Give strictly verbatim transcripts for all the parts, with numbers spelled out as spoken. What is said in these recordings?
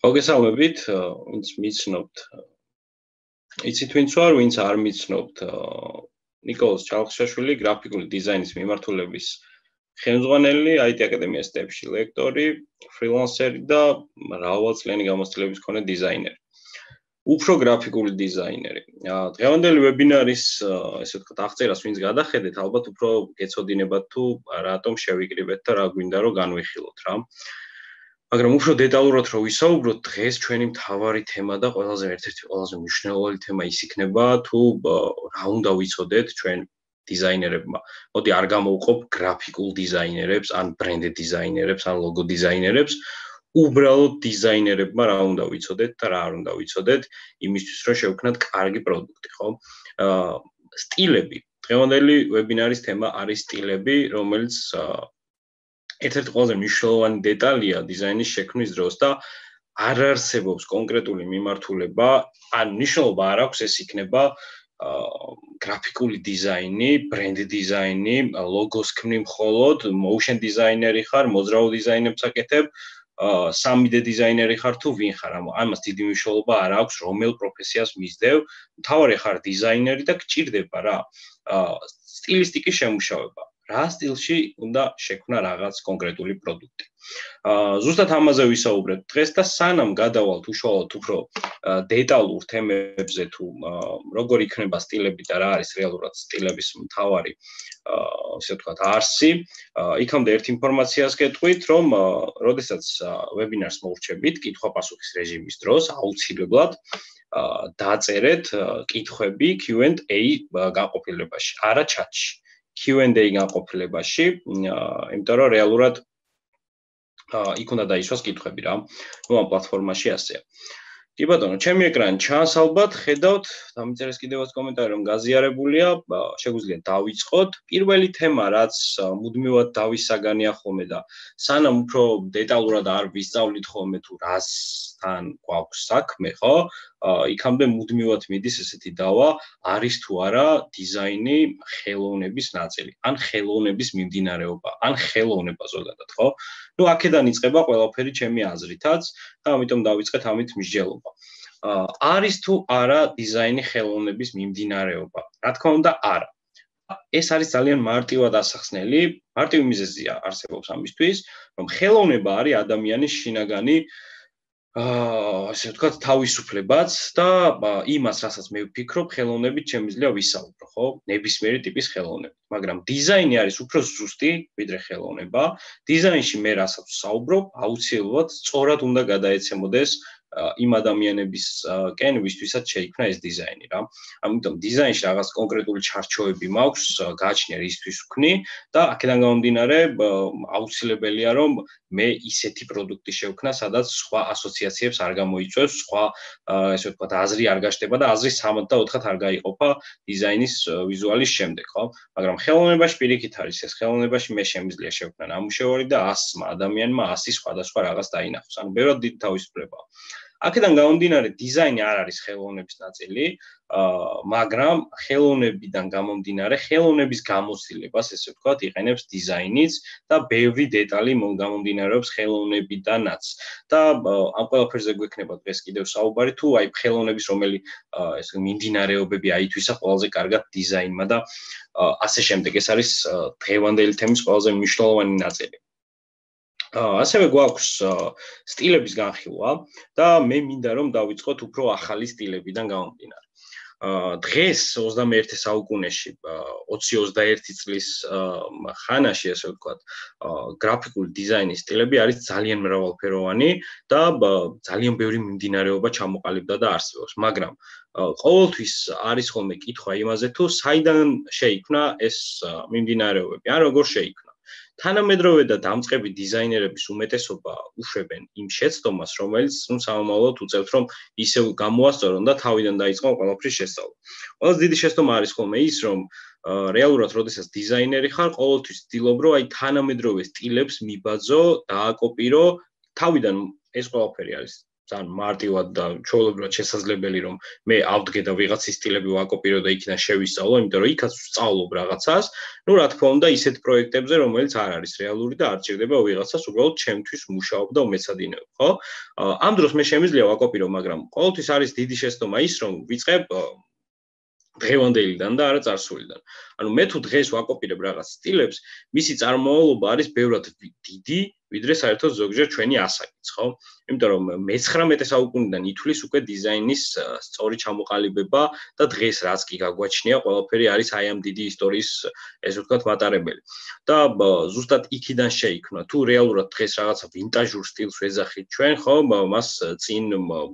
მოგესალმებით, ვინც მიცნობთ. იცით ვინც ვარ, ვინც არ მიცნობთ. ნიკოლოზ ჩალხშაშვილი, გრაფიკული დიზაინის მიმართულების ხელმძღვანელი, აი ტი აკადემიას სტეპში ლექტორი, ფრილანსერი და მრავალწლიანი გამოცდილების მქონე დიზაინერი. უფრო გრაფიკული დიზაინერი. დღევანდელი ვებინარის, ესე ვთქვათ, აღწერას ვინც გადახედეთ, ალბათ უფრო გეცოდინებათ თუ რატომ შევიკრიბეთ და რა გვინდა რომ განვიხილოთ რა. მაგრამ უფრო დეტალურად რო ვისაუბროთ, დღეს ჩვენი მთავარი თემა და ყველაზე ერთ-ერთი ყველაზე მნიშვნელოვანი თემა ის იქნება, თუ რა უნდა ვიცოდეთ ჩვენ დიზაინერებმა. მოდი არ გამოვყოფ გრაფიკულ დიზაინერებს, ან ბრენდ დიზაინერებს, ან ლოგო დიზაინერებს, უბრალოდ დიზაინერებმა რა უნდა ვიცოდეთ და რა არ უნდა ვიცოდეთ, იმისთვის რომ შევქმნათ კარგი პროდუქტი, ხო? აა სტილები. დღევანდელი ვებინარის თემა არის სტილები, რომელიც ერთ-ერთი ყველაზე მნიშვნელოვანი დეტალია დიზაინის შექმნის დროს და არ არსებობს კონკრეტული მიმართულება, ან მნიშვნელობა არ აქვს ეს იქნება გრაფიკული დიზაინი, ბრენდ დიზაინი, ლოგოს ქმნი მხოლოდ, motion დიზაინერი ხარ, მოძრაო დიზაინებს აკეთებ, სამი დე დიზაინერი ხარ თუ ვინ ხარ, ამას დიდი მნიშვნელობა არ აქვს, რომელ პროფესიას მისდევ, მთავარი ხარ დიზაინერი და გჭირდება რა, სტილისტიკის შემუშავება. რა სტილში უნდა შექმნა რაღაც კონკრეტული პროდუქტი. ზუსტად ამაზე ვისაუბრეთ დღეს და სანამ გადავალთ უშუალოდ უფრო დეტალურ თემებზე თუ როგორ იქნება სტილები და რა არის რეალურად სტილების მთავარი ასე ვთქვათ არსი, იქამდე ერთ ინფორმაციას გეტყვით, რომ როდესაც ვებინარს მოვრჩებით კითხვა-პასუხის რეჟიმის დროს აუცილებლად დაწერეთ კითხვები კიუ ენდ ეი განყოფილებაში, არა ჩატში. კიუ ენდ ეი განყოფილებაში, იმიტომ რომ რეალურად იქ უნდა დაისვას კითხვები რა. ნუ ამ პლატფორმაში ასეა. კი ბატონო, ჩემი ეკრანი ჩანს ალბათ, ხედავთ, დამიწერეს კიდევაც კომენტარი რომ გაზიარებულია, შეგვიძლია დავიწყოთ. პირველი თემა, რაც მუდმივად დავისაგანია ხოლმე და სანამ უფრო დეტალურად არ ვისწავლით ხოლმე თუ რასთან გვაქვს საქმე, ხო? იქამდე მუდმივად მიდის ესეთი დავა, არის თუ არა დიზაინი ხელოვნების ნაწილი, ან ხელოვნების მიმდინარეობა, ან ხელოვნება ზოგადად, ხო? ნუ აქედან იწყება ყველაფერი ჩემი აზრითაც და ამიტომ დავიწყეთ ამით მსჯელობა. არის თუ არა დიზაინი ხელოვნების მიმდინარეობა? რა თქმა უნდა, არა. ეს არის ძალიან მარტივად ასახსნელი, მარტივი მიზეზია არსებობს ამისთვის, რომ ხელოვნება არის ადამიანის შინაგანი აა ასე ვთქვათ, თავისუფლებაც და იმას, რასაც მე ვფიქრობ, ხელოვნებით შემიძლია ვისაუბრო, ხო? ნებისმიერი ტიპის ხელოვნებით. მაგრამ დიზაინი არის უფრო ზუსტი, ვიდრე ხელოვნება. დიზაინში მე რასაც ვსაუბრობ, აუცილებლად სწორად უნდა გადაეცემოდეს იმ ადამიანებისკენ, ვისთვისაც შეიქმნა ეს დიზაინი რა. ამიტომ დიზაინში რაღაც კონკრეტული ჩარჩოები მაქვს, გააჩნია რისთვის ვქნი და აქედან გამომდინარე აუცილებელია რომ მე ისეთი პროდუქტი შევქნა, სადაც სხვა ასოციაციებს არ გამოიწვევს, სხვა ესე ვთქვათ, აზრი არ გაშტება და აზრი სამად და ოთხად არ გაიყოფა დიზაინის ვიზუალის შემდეგ, ხო? მაგრამ ხელოვნებაში პირიქით არის ეს, ხელოვნებაში მე შემიძლია შევქნა ნამუშევარი და ასმა ადამიანმა ასი სხვადასხვა რაღაც დაინახოს. ანუ ბევრად დიდი თავისუფლებაა. აქედან გამომდინარე დიზაინი არ არის ხელოვნების ნაწილი, მაგრამ ხელოვნებიდან გამომდინარე ხელოვნების გამოცდილებას, ესე ვთქვათ, იყენებს დიზაინიც და ბევრი დეტალი გამომდინარეობს ხელოვნებიდანაც. და ამ ყველაფერზე გვექნება დღეს კიდევ საუბარი, თუ აი ხელოვნების რომელი ეს მიმდინარეობები აითვისა ყველაზე კარგად დიზაინმა და ასე შემდეგ. ეს არის დღევანდელი თემის ყველაზე მნიშვნელოვანი ნაწილი. ასევე გვაქვს სტილების განხილვა და მე მინდა რომ დავიწყოთ უფრო ახალი სტილებიდან გამომდინარე. დღეს ოცდამეერთე საუკუნეში, ოცი ოცდაერთი წლის ხანაში, ასე ვთქვათ, გრაფიკული დიზაინის სტილები არის ძალიან მრავალფეროვანი და ძალიან ბევრი მიმდინარეობა ჩამოყალიბდა და არსებობს, მაგრამ ყოველთვის არის ხოლმე კითხვა იმაზე, თუ საიდან შეიქმნა ეს მიმდინარეობები, ან როგორ შეიქმნა. თანამედროვე და დამწყები დიზაინერების უმეტესობა უშვებენ იმ შეცდომას, რომელიც ნუ სამომავლოდ უწევთ, რომ ისევ გამოასწორონ და თავიდან დაიწყონ ყველაფრის შესწავლა. ყველაზე დიდი შეცდომა არის ხოლმე ის, რომ რეალურად, როდესაც დიზაინერი ხარ, ყოველთვის ვცდილობ, რომ აი თანამედროვე სტილებს მიბაძო, დააკოპირო, თავიდან ეს ყველაფერი არის ძალიან მარტივად და ჩვეულებრივად შესაძლებელი რომ მე ავდგე და ვიღაცის სტილები ვაკოპირო და იქიდან შევისწავლო, იმიტომ რომ იქაც ვსწავლობ რაღაცას. ნუ რა თქმა უნდა, ისეთ პროექტებზე, რომელიც არ არის რეალური და არ ჭირდება ვიღაცას უბრალოდ ჩემთვის მუშაობ და უმეცადინეობ, ხო? ამ დროს მე შემიძლია ვაკოპირო, მაგრამ ყოველთვის არის დიდი შეცდომა ის, რომ ვიწყებ დღევანდელიდან და არა წარსულიდან. ანუ მე თუ დღეს ვაკოპირებ რაღაც სტილებს, მისი წარმომავლობა არის ბევრად დიდი, ვიდრე საერთოდ ზოგჯერ ჩვენი ასაკიც, ხო? იმიტომ რომ მეცხრამეტე საუკუნიდან ითვლის უკვე დიზაინის სწორი ჩამოყალიბება და დღეს რაც კი გაგვაჩნია, ყველაფერი არის აი ამ დიდი ისტორიის, ესე ვთქვათ, მატარებელი. და ზუსტად იქიდან შეიქმნა. თუ რეალურად დღეს რაღაცა ვინტაჟურ სტილს ვეძახით ჩვენ, ხო, მას წინ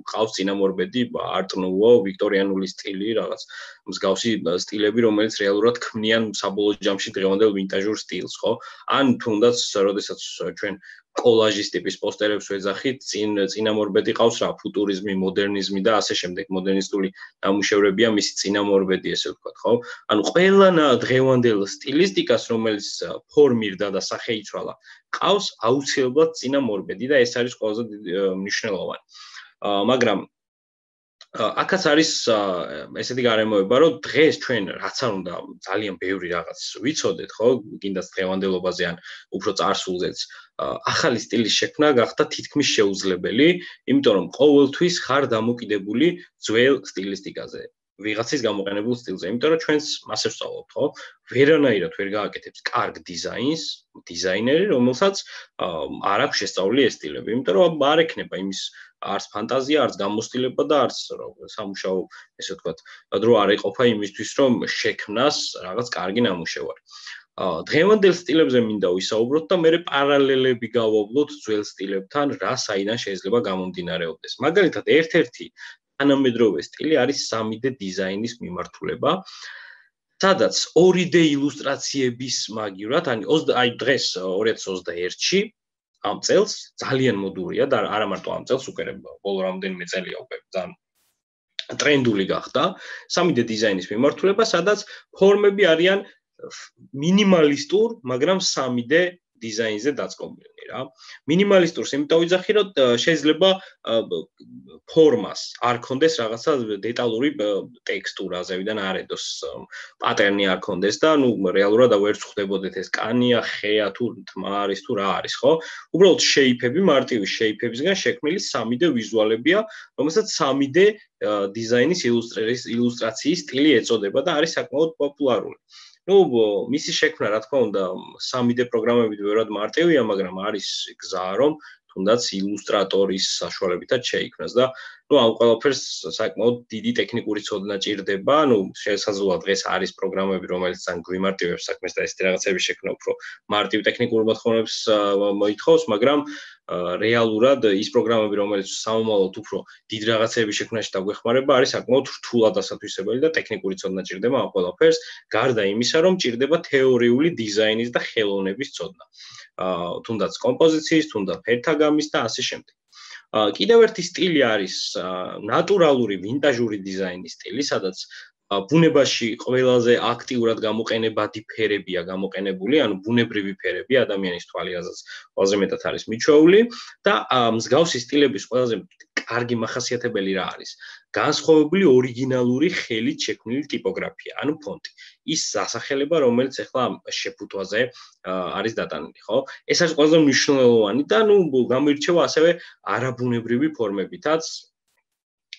ყავს წინამორბედი არტ ნუვო, ვიქტორიანული სტილი, რაღაც მსგავსი სტილები, რომელიც რეალურად ქმნიან საბოლოო ჯამში დღევანდელ ვინტაჟურ სტილს, ხო? ან თუნდაც, როდესაც ჩვენ კოლაჟის ტიპის პოსტერებს ვეძახით, წინ წინამორბედი ყავს რა, ფუტურიზმი, მოდერნიზმი და ასე შემდეგ, მოდერნისტული ნამუშევრებია მისი წინამორბედი, ესე ვთქვათ, ხო? ანუ ყველა დღევანდელ სტილისტიკას, რომელიც ფორმირდა და სახე იცვალა, ყავს აუცილებლად წინამორბედი და ეს არის ყველაზე მნიშვნელოვანი. მაგრამ აქაც არის ესეთი გარემოება, რომ დღეს ჩვენ რაც არ უნდა ძალიან ბევრი რაღაც ვიცოდეთ, ხო? კიდაც დღევანდელობაზე ან უფრო წარსულზეც ახალი სტილის შექმნა გახდა თითქმის შეუძლებელი, იმიტომ რომ ყოველთვის ხარ დამოკიდებული ძველ სტილისტიკაზე. ვიღაცის გამოყენებულ სტილზე, იმიტომ რომ ჩვენს მასე ვსწავლობთ, ხო? ვერანაირად ვერ გააკეთებს კარგ დიზაინს, დიზაინერი, რომელსაც არ აქვს შესწავლილი ეს სტილები, იმიტომ რომ არ ექნება იმის არც ფანტაზია, არც გამოცდილება და არც სამუშაო, ესე ვთქვათ, დრო არ ეყოფა იმისთვის, რომ შექმნას რაღაც კარგი ნამუშევარი. დღევანდელ სტილებზე მინდა ვისაუბროთ და მე პარალელები გავავლოთ ძველ სტილებთან, რა საიდან შეიძლება გამომდინარეობდეს. მაგალითად, ერთ-ერთი თანამედროვე სტილი არის სამი დე დიზაინის მიმართულება, სადაც ორი დე ილუსტრაციების მაგივრად, აი დღეს ორი ათას ოცდაერთში ამ წელს ძალიან მოდურია და არა მარტო ამ წელს, უკვე ბოლო რამდენიმე წელია უკვე ძალიან ტრენდული გახდა სამი დე დიზაინის მიმართულება, სადაც ფორმები არიან მინიმალისტურ, მაგრამ სამი დე დიზაინზე დაწყობილნი რა. მინიმალისტურს იმიტომ ვიძახი, რომ შეიძლება ფორმას არ ქონდეს რაღაცა დეტალური ტექსტურა, ზევიდან არ ედოს პატერნი არ ქონდეს და ნუ რეალურად ვერ ვხვდებოდეთ ეს კანია, ხეა თუ თმა არის თუ რა არის, ხო? უბრალოდ შეიფები, მარტივი შეიფებისგან შექმნილი სამი დე ვიზუალებია, რომელსაც სამი დე დიზაინის ილუსტრაციის სტილი ეწოდება და არის საკმაოდ პოპულარული. ნუ მისი შექმნა, რა თქმა უნდა, სამი დე პროგრამებით ბევრად მარტივია, მაგრამ არის გზა, რომ თუნდაც ილუსტრატორის საშუალებითაც შეიქმნას და ნუ ამ ყველაფერს საკმაოდ დიდი ტექნიკური ცოდნა ჭირდება, ნუ შესაძლოა დღეს არის პროგრამები, რომელიც ძალიან გვიმარტივებს საქმეს და ესეთი რაღაცების შექმნა უფრო მარტივ ტექნიკურ მოთხოვნებს მოითხოვს, მაგრამ რეალურად ის პროგრამები, რომელიც სამომავლოდ უფრო დიდ რაღაცების შექმნაში დაგვეხმარება, არის საკმაოდ რთულად დასათვისებელი და ტექნიკური ცოდნა ჭირდება ამ ყველაფერს, გარდა იმისა, რომ ჭირდება თეორიული დიზაინის და ხელოვნების ცოდნა. თუნდაც კომპოზიციის, თუნდაც ფერთა გამის და ასე შემდეგ. კიდევ ერთი სტილი არის ნატურალური ვინტაჟური დიზაინის სტილი, სადაც ბუნებაში ყველაზე აქტიურად გამოყენებადი ფერებია გამოყენებული, ანუ ბუნებრივი ფერები ადამიანის თვალიაზრაც ყველაზე მეტად არის მიჩვეული და მსგავსი სტილების ყველაზე კარგი მახასიათებელი რა არის? განსხვავებული ორიგინალური ხელით შექმნილი ტიპოგრაფია, ანუ ფონტი. ის სასახელება, რომელიც ახლა შეფუთვაზე არის დატანილი, ხო? ეს არის ყველაზე მნიშვნელოვანი და ნუ გამოირჩევა ასევე არაბუნებრივი ფორმებითაც,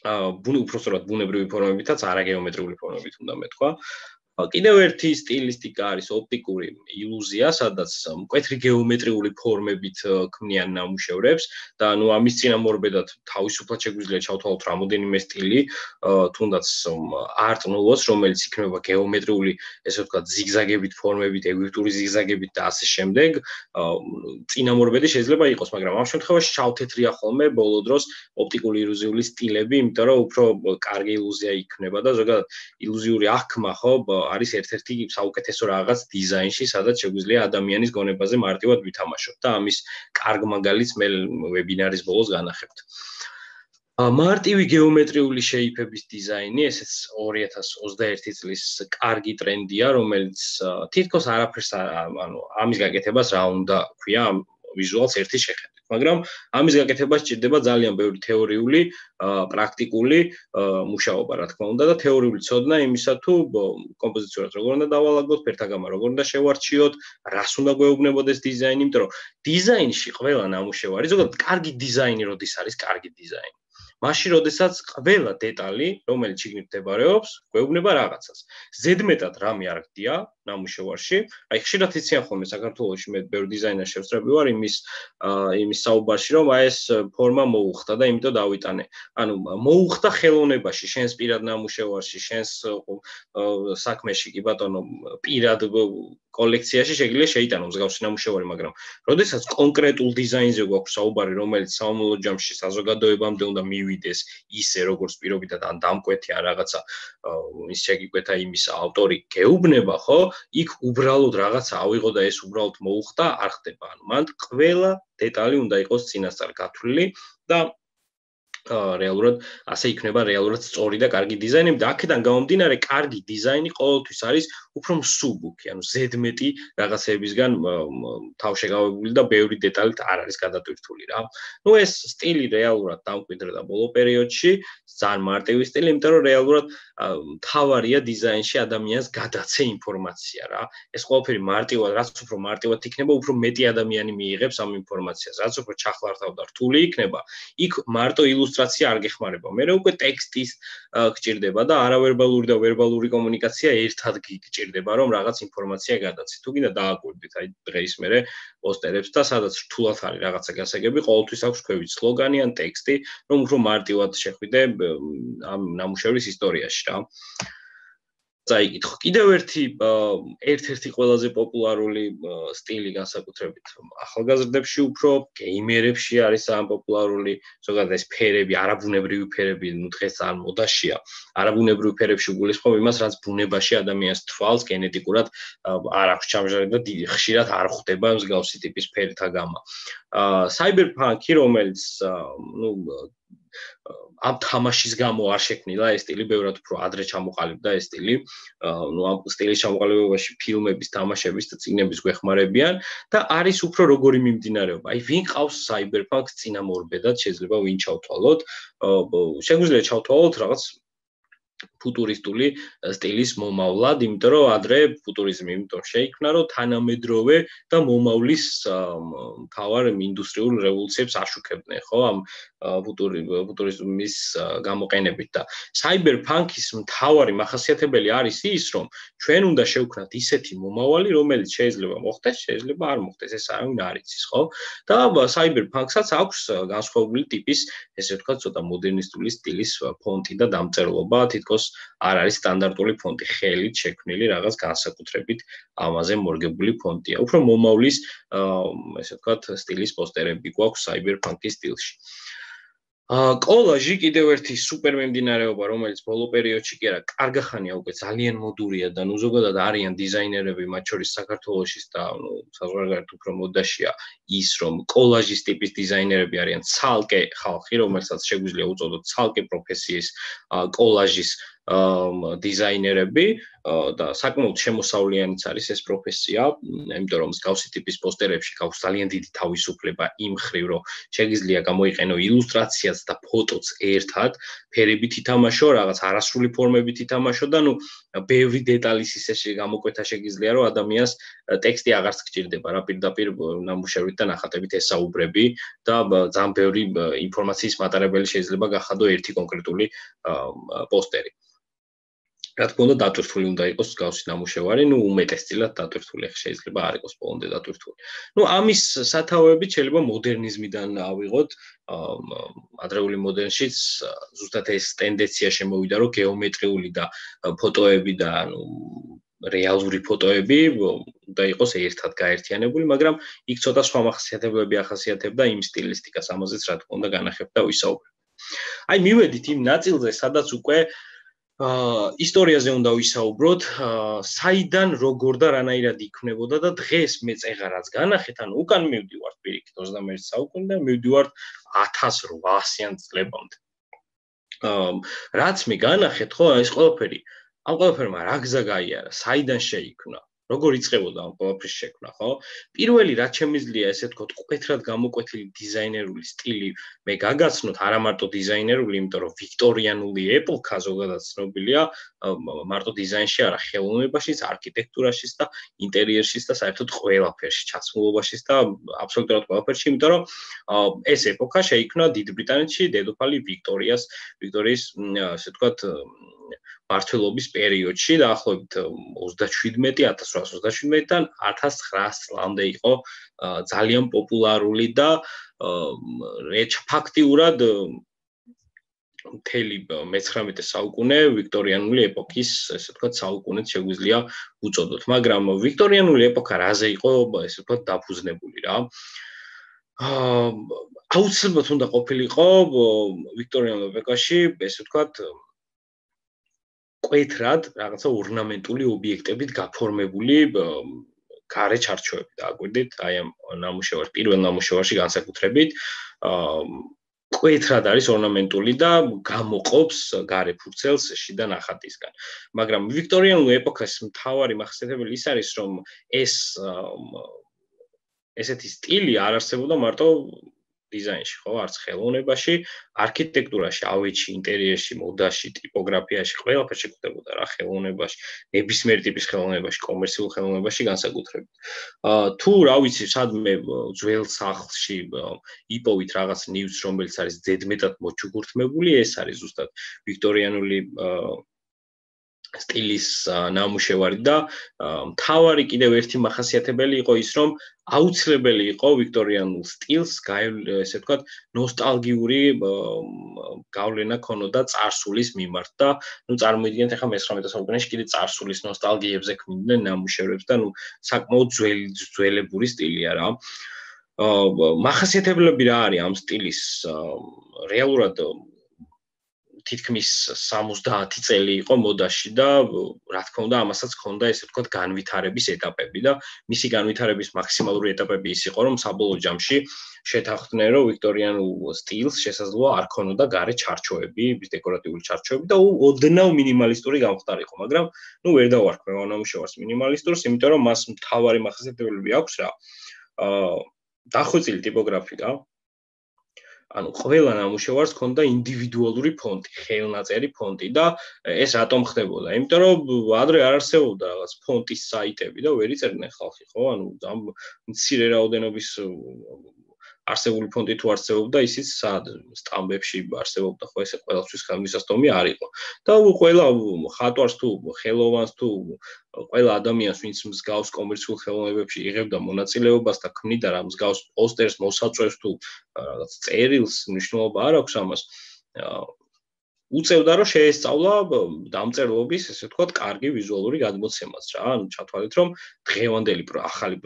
უпростоრად ბუნებრივი ფორმებითაც, არაგეომეტრიული ფორმებით უნდა მეთქვა. კიდევ ერთი სტილისტიკა არის ოპტიკური ილუზია, სადაც მკვეთრი გეომეტრიული ფორმებით ქმნიან ნამუშევრებს და ნუ ამის წინამორბედად თავისუფლად შეგვიძლია ჩავთვალოთ რამოდენიმე სტილი, თუნდაც არტ ნუვოს, რომელიც იქმნება გეომეტრიული, ესე ვთქვათ, ზიგზაგებით ფორმებით, ეგვიპტური ზიგზაგებით და ასე შემდეგ. წინამორბედი შეიძლება იყოს, მაგრამ ამ შემთხვევაში ჩავთეთრია ხოლმე ბოლო დროს ოპტიკური ილუზიული სტილები, იმიტომ რომ უფრო კარგი ილუზია იქნება და ზოგადად ილუზიური აღქმა, ხო, არის ერთ-ერთი საუკეთესო რაღაც დიზაინში, სადაც შეგვიძლია ადამიანის გონებაზე მარტივად ვითამაშოთ და ამის კარგ მაგალითს მე ვებინარის ბოლოს განახებთ. მარტივი გეომეტრიული შეიფების დიზაინი, ესეც ორი ათას ოცდაერთი წლის კარგი ტრენდია, რომელიც თითქოს არაფერს, ანუ ამის გაკეთებას რა უნდა ქვია, ვიზუალს ერთი შეხედვით. მაგრამ ამის გაკეთება სჭირდება ძალიან ბევრი თეორიული, პრაქტიკული მუშაობა, რა თქმა უნდა, და თეორიული ცოდნა იმისა თუ კომპოზიციურად როგორ უნდა დავალაგოთ, ფერთაგამა როგორ უნდა შევარჩიოთ, რას უნდა გვეუბნებოდეს დიზაინი, იმიტომ რომ დიზაინში ყველა ნამუშევარი, ზოგადად კარგი დიზაინი როდის არის კარგი დიზაინი. მაშინ, როდესაც ყველა დეტალი, რომელიც შიგნით მდებარეობს, გვეუბნება რაღაცას. ზედმეტად რამე არ გდია ნამუშევარში. აი, ხშირად იციან ხოლმე საქართველოში მე ბევრი დიზაინერს შევსწრები ვარ იმის იმის საუბარში, რომ აი ეს ფორმა მოუხდა და იმიტომ დავიტანე. ანუ მოუხდა ხელოვნებაში, შენს პირად ნამუშევარში, შენს საქმეში კი ბატონო, პირად კოლექციაში შეიძლება შეიტანო მსგავსი ნამუშევარი, მაგრამ როდესაც კონკრეტულ დიზაინზე გვაქვს საუბარი, რომელიც საომლო ჯამში საზოგადოებამდე უნდა მივიდეს ისე, როგორც პირობითად ან დამკვეთი ან რაღაცა ის შეგიკვეთა იმის ავტორი გეუბნება, ხო? იქ უბრალოდ რაღაცა ავიღო და ეს უბრალოდ მოუხდა, არ ხდება. ანუ მანდ ყველა დეტალი უნდა იყოს წინასწარ გათვლილი და რეალურად ასე იქნება რეალურად სწორი და კარგი დიზაინი და აქედან გამომდინარე კარგი დიზაინი ყოველთვის არის უფრო მსუბუქი, ანუ ზედმეტი რაღაცებისგან თავშეგავებული და ბევრი დეტალით არ არის გადატვირთული რა. ნუ ეს სტილი რეალურად დამკვიდრდა ბოლო პერიოდში, ძალიან მარტივი სტილი, იმიტომ რომ რეალურად მთავარია დიზაინში ადამიანს გადაცე ინფორმაცია რა. ეს ყველაფერი მარტივად, რაც უფრო მარტივად იქნება, უფრო მეტი ადამიანი მიიღებს ამ ინფორმაციას. რაც უფრო ჩახლართავ და რთული იქნება, იქ მარტო ილუსტრაცია არ გეხმარება. მე უკვე ტექსტის გჭირდება და არავერბალური და ვერბალური კომუნიკაცია ერთად გჭირდება, რომ რაღაც ინფორმაცია გადაცე. თუ გინდა დააკვირდით, აი დღეს მერე პოსტერებს და სადაც რთულად არის რაღაცა გასაგები, ყოველთვის აქვს ქვევით სლოგანი ან ტექსტი, რომ უფრო მარტივად შეხვიდე ამ ნამუშევრის ისტორიაში რა. წაიკითხო. კიდევ ერთი ერთ-ერთი ყველაზე პოპულარული სტილი განსაკუთრებით ახალგაზრდებში უფრო გეიმერებში არის ძალიან პოპულარული, ზოგადად ეს ფერები, არაბუნებრივი ფერები, ნუ დღეს ძალიან მოდაშია. არაბუნებრივი ფერებში გულისხმობ იმას, რაც ბუნებაში ადამიანს თვალს გენეტიკურად არ აქვს ჩამჟარებული და ხშირად არ ხვდება მსგავსი ტიპის ფერთა გამა. საიბერპანკი, რომელიც ნუ ამ თამაშის გამო არ შექმნილა ეს სტილი, ბევრად უფრო ადრე ჩამოყალიბდა ეს სტილი. ნუ ამ სტილის ჩამოყალიბებაში ფილმების, თამაშების და წიგნების გვეხმარებიან და არის უფრო როგორი მიმდინარეობა. აი, ვინ ყავს საიბერპანკს წინამორბედად, შეიძლება ვინ ჩავთვალოთ. შეგვიძლია ჩავთვალოთ რაღაც ფუტურისტული სტილის მომავლად, იმიტომ რომ ადრე ფუტურიზმი იმიტომ შეიქმნა, რომ თანამედროვე და მომავლის მთავარ ინდუსტრიულ რევოლუციებს აშუქებდნენ, ხო, ამ ფუტურიზმის გამოყენებით და საიბერპანკის მთავარი მახასიათებელი არის ის, რომ ჩვენ უნდა შევქმნათ ისეთი მომავალი, რომელიც შეიძლება მოხდეს, შეიძლება არ მოხდეს, ეს არავინ არ იცის, ხო? და საიბერპანკსაც აქვს განსხვავებული ტიპის, ესე ვთქვათ, ცოტა მოდერნისტული სტილის ფონტი და დამწერლობა, თითქოს არ არის სტანდარტული ფონტი, ხელით შექმნილი რაღაც განსაკუთრებით ამაზე მორგებული ფონტია. უფრო მომავლის, ესე ვთქვათ, სტილის პოსტერები გვაქვს საიბერპანკის სტილში. კოლაჟი კიდევ ერთი სუპერ მიმდინარეობა, რომელიც ბოლო პერიოდში კი არა, კარგახანია უკვე ძალიან მოდურია და ნუ ზოგადად არიან დიზაინერები, მათ შორის საქართველოშიც და ნუ საზღვარგარეთ უფრო მოდაშია ის, რომ კოლაჟის ტიპის დიზაინერები არიან ცალკე ხალხი, რომელსაც შეგვიძლია უწოდოთ ცალკე პროფესიის კოლაჟის დიზაინერები და საკმაოდ შემოსავლიანიც არის ეს პროფესია, იმიტომ რომ მსგავსი ტიპის პოსტერებში გაქვს ძალიან დიდი თავისუფლება იმ მხრივ, რომ შეგიძლია გამოიყენო ილუსტრაციაც და ფოტოც ერთად, ფერებით ითამაშო, რაღაც არასრული ფორმებით ითამაშო და ნუ ბევრი დეტალის ისე გამოკვეთა შეგიძლია, რომ ადამიანს ტექსტი აღარც გჭირდება, რა პირდაპირ ნამუშევრით და ნახატებით ესაუბრები და ძალიან ბევრი ინფორმაციის მატარებელი შეიძლება გახადო ერთი კონკრეტული პოსტერი. რა თქმა უნდა, დატვირთული უნდა იყოს მსგავსი ნამუშევარი, ნუ უმეტესწილად დატვირთული, შეიძლება არ იყოს ბოლომდე დატვირთული. ნუ ამის სათავეებით შეიძლება მოდერნიზმიდან ავიღოთ, ადრეული მოდერნშიც ზუსტად ეს ტენდენცია შემოვიდა, რომ გეომეტრიული და ფოტოები და ანუ რეალური ფოტოები უნდა იყოს ერთად გაერთიანებული, მაგრამ იქ ცოტა სხვა მახასიათებლები ახასიათებდა იმ სტილისტიკას, ამაზეც რა თქმა უნდა განახებ და ვისაუბრებ. აი, მივედით იმ ნაწილზე, სადაც უკვე ისტორიაზე უნდა ვისაუბროთ, საიდან, როგორ და რანაირად იქმნებოდა და დღეს მე წეღარაც განახეთ, ანუ უკან მივდივართ პირიქით ოცდამეერთე საუკუნიდან, მივდივართ ათას რვაასიან წლებამდე. რაც მე განახეთ, ხო, ეს ყველაფერი, ამ ყველაფერმა რა გზა გაიარა, საიდან შეიქმნა? როგორ იწყებოდა ამ ყველაფრის შექმნა, ხო? პირველი რაც შემიძლია ესე ვთქვათ, კვეთრად გამოკვეთილი დიზაინერული სტილი მე გაგაცნოთ, არა მარტო დიზაინერული, იმიტომ რომ ვიქტორიანული ეპოქა ზოგადად ცნობილია მარტო დიზაინში, არა, ხელოვნებაშიც, არქიტექტურაშიც და ინტერიერშიც და საერთოდ ყველაფერში, ჩაცმულობაშიც და აბსოლუტურად ყველაფერში, იმიტომ რომ ეს ეპოქა შეიქმნა დიდ ბრიტანეთში დედოფალი ვიქტორიას, ვიქტორიის, ასე ვთქვათ, მმართველობის პერიოდში, დაახლოებით ოცდაშვიდმეტი ათას რვაასი ოცდაშვიდმეტიდან ათას ცხრაას წლამდე იყო ძალიან პოპულარული და ფაქტიურად მთელი მეცხრამეტე საუკუნე ვიქტორიანული ეპოქის, ესე ვთქვათ, საუკუნეც შეგვიძლია უწოდოთ, მაგრამ ვიქტორიანული ეპოქა რაზე იყო, ესე ვთქვათ, დაფუძნებული რა. აუცილებლად უნდა ყოფილიყო ვიქტორიანულ ეპოქაში, ესე ვთქვათ, კვეთრად რაღაცა ორნამენტული ობიექტებით გაფორმებული გარე ჩარჩოები დააკვირდით, აი ამ ნამუშევარს, პირველ ნამუშევარში განსაკუთრებით, კვეთრად არის ორნამენტული და გამოყოფს გარე ფურცელს შიდა ნახატისგან. მაგრამ ვიქტორიანული ეპოქას მთავარი მახასიათებელი ის არის, რომ ეს ესეთი სტილი არ არსებობდა მარტო დიზაინში, ხო, არც ხელოვნებაში, არქიტექტურაში, ავეჯში, ინტერიერში, მოდაში, ტიპოგრაფიაში, ყველაფერში გვხვდებოდა რა ხელოვნებაში, ნებისმიერი ტიპის ხელოვნებაში, კომერციულ ხელოვნებაში განსაკუთრებით. თუ რა ვიცი, სადმე ძველ სახლში იპოვით რაღაც ნივთს, რომელიც არის ზედმეტად მოჩუქურთმებული, ეს არის ზუსტად ვიქტორიანული სტილის ნამუშევარი და მთავარი კიდევ ერთი მახასიათებელი იყო ის, რომ აუცილებელი იყო ვიქტორიანულ სტილს, ესე ვთქვათ, ნოსტალგიური გავლენა ქონოდა წარსულის მიმართ და ნუ წარმოიდგინეთ ახლა მეცხრამეტე საუკუნეში კიდე წარსულის ნოსტალგიებზე ქმნიდნენ ნამუშევრებს და ნუ საკმაოდ ძველი ძველებური სტილია რა. მახასიათებლები რა არის ამ სტილის რეალურად თითქმის სამოცდაათი წელი იყო მოდაში და რა თქმა უნდა ამასაც ჰქონდა ესე ვთქვათ განვითარების ეტაპები და მისი განვითარების მაქსიმალური ეტაპები ის იყო რომ საბოლოო ჯამში შეთანხმდნენ რომ ვიქტორიანულ სტილს შესაძლოა არ ქონოდა გარე ჩარჩოები, დეკორატიული ჩარჩოები და ოდნავ მინიმალისტური გამხდარიყო, მაგრამ ნუ ვერ დავარქმევ ამ ნამუშევარს მინიმალისტურს, იმიტომ რომ მას მთავარი მახასიათებლები აქვს რა. აა დახვეწილი ტიპოგრაფია ანუ ყველა ნამუშევარს ჰქონდა ინდივიდუალური ფონტი, ხელნაწერი ფონტი და ეს რატომ ხდებოდა? იმიტომ რომ ადრე არ არსებობდა რაღაც ფონტის საიტები და ვერ იწერდნენ ხალხი, ხო? ანუ ამ მცირე რაოდენობის არსებული ფონტი თუ არსებობდა, ისიც სად სტამბებში არსებობდა, ხო, ესე ყველასთვის ხელმისაწვდომი არ იყო. და ყველა ხატვარს თუ ხელოვანს თუ ყველა ადამიანს, ვინც მსგავს კომერციულ ხელოვნებებში იღებდა მონაწილეობას და ქმნიდა რა მსგავს პოსტერს, მოსაწვევს თუ რაღაც წერილს, მნიშვნელობა არ აქვს ამას. უწევდა რომ შეესწავლა დამწერლობის, ესე ვთქვათ, კარგი ვიზუალური გადმოცემაც რა. ანუ ჩათვალეთ რომ დღევანდელი ახალი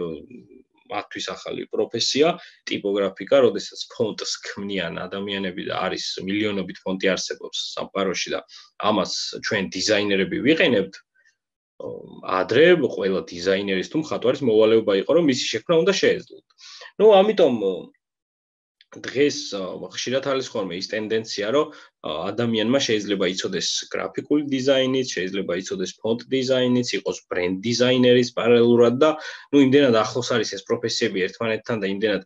მათთვის ახალი პროფესია, ტიპოგრაფიკა, როდესაც ფონტს ქმნიან ადამიანები და არის მილიონობით ფონტი არსებობს სამყაროში და ამას ჩვენ დიზაინერები ვიყენებთ, ადრე ყველა დიზაინერის თუ მხატვარის მოვალეობა იყო, რომ მისი შექმნა უნდა შეეძლოთ. ნუ ამიტომ დღეს ხშირად არის ხოლმე ის ტენდენცია, რომ ადამიანმა შეიძლება იცოდეს გრაფიკული დიზაინიც, შეიძლება იცოდეს ფონტ დიზაინიც, იყოს ბრენდ დიზაინერის პარალელურად და ნუ იმდენად ახლოს არის ეს პროფესიები ერთმანეთთან და იმდენად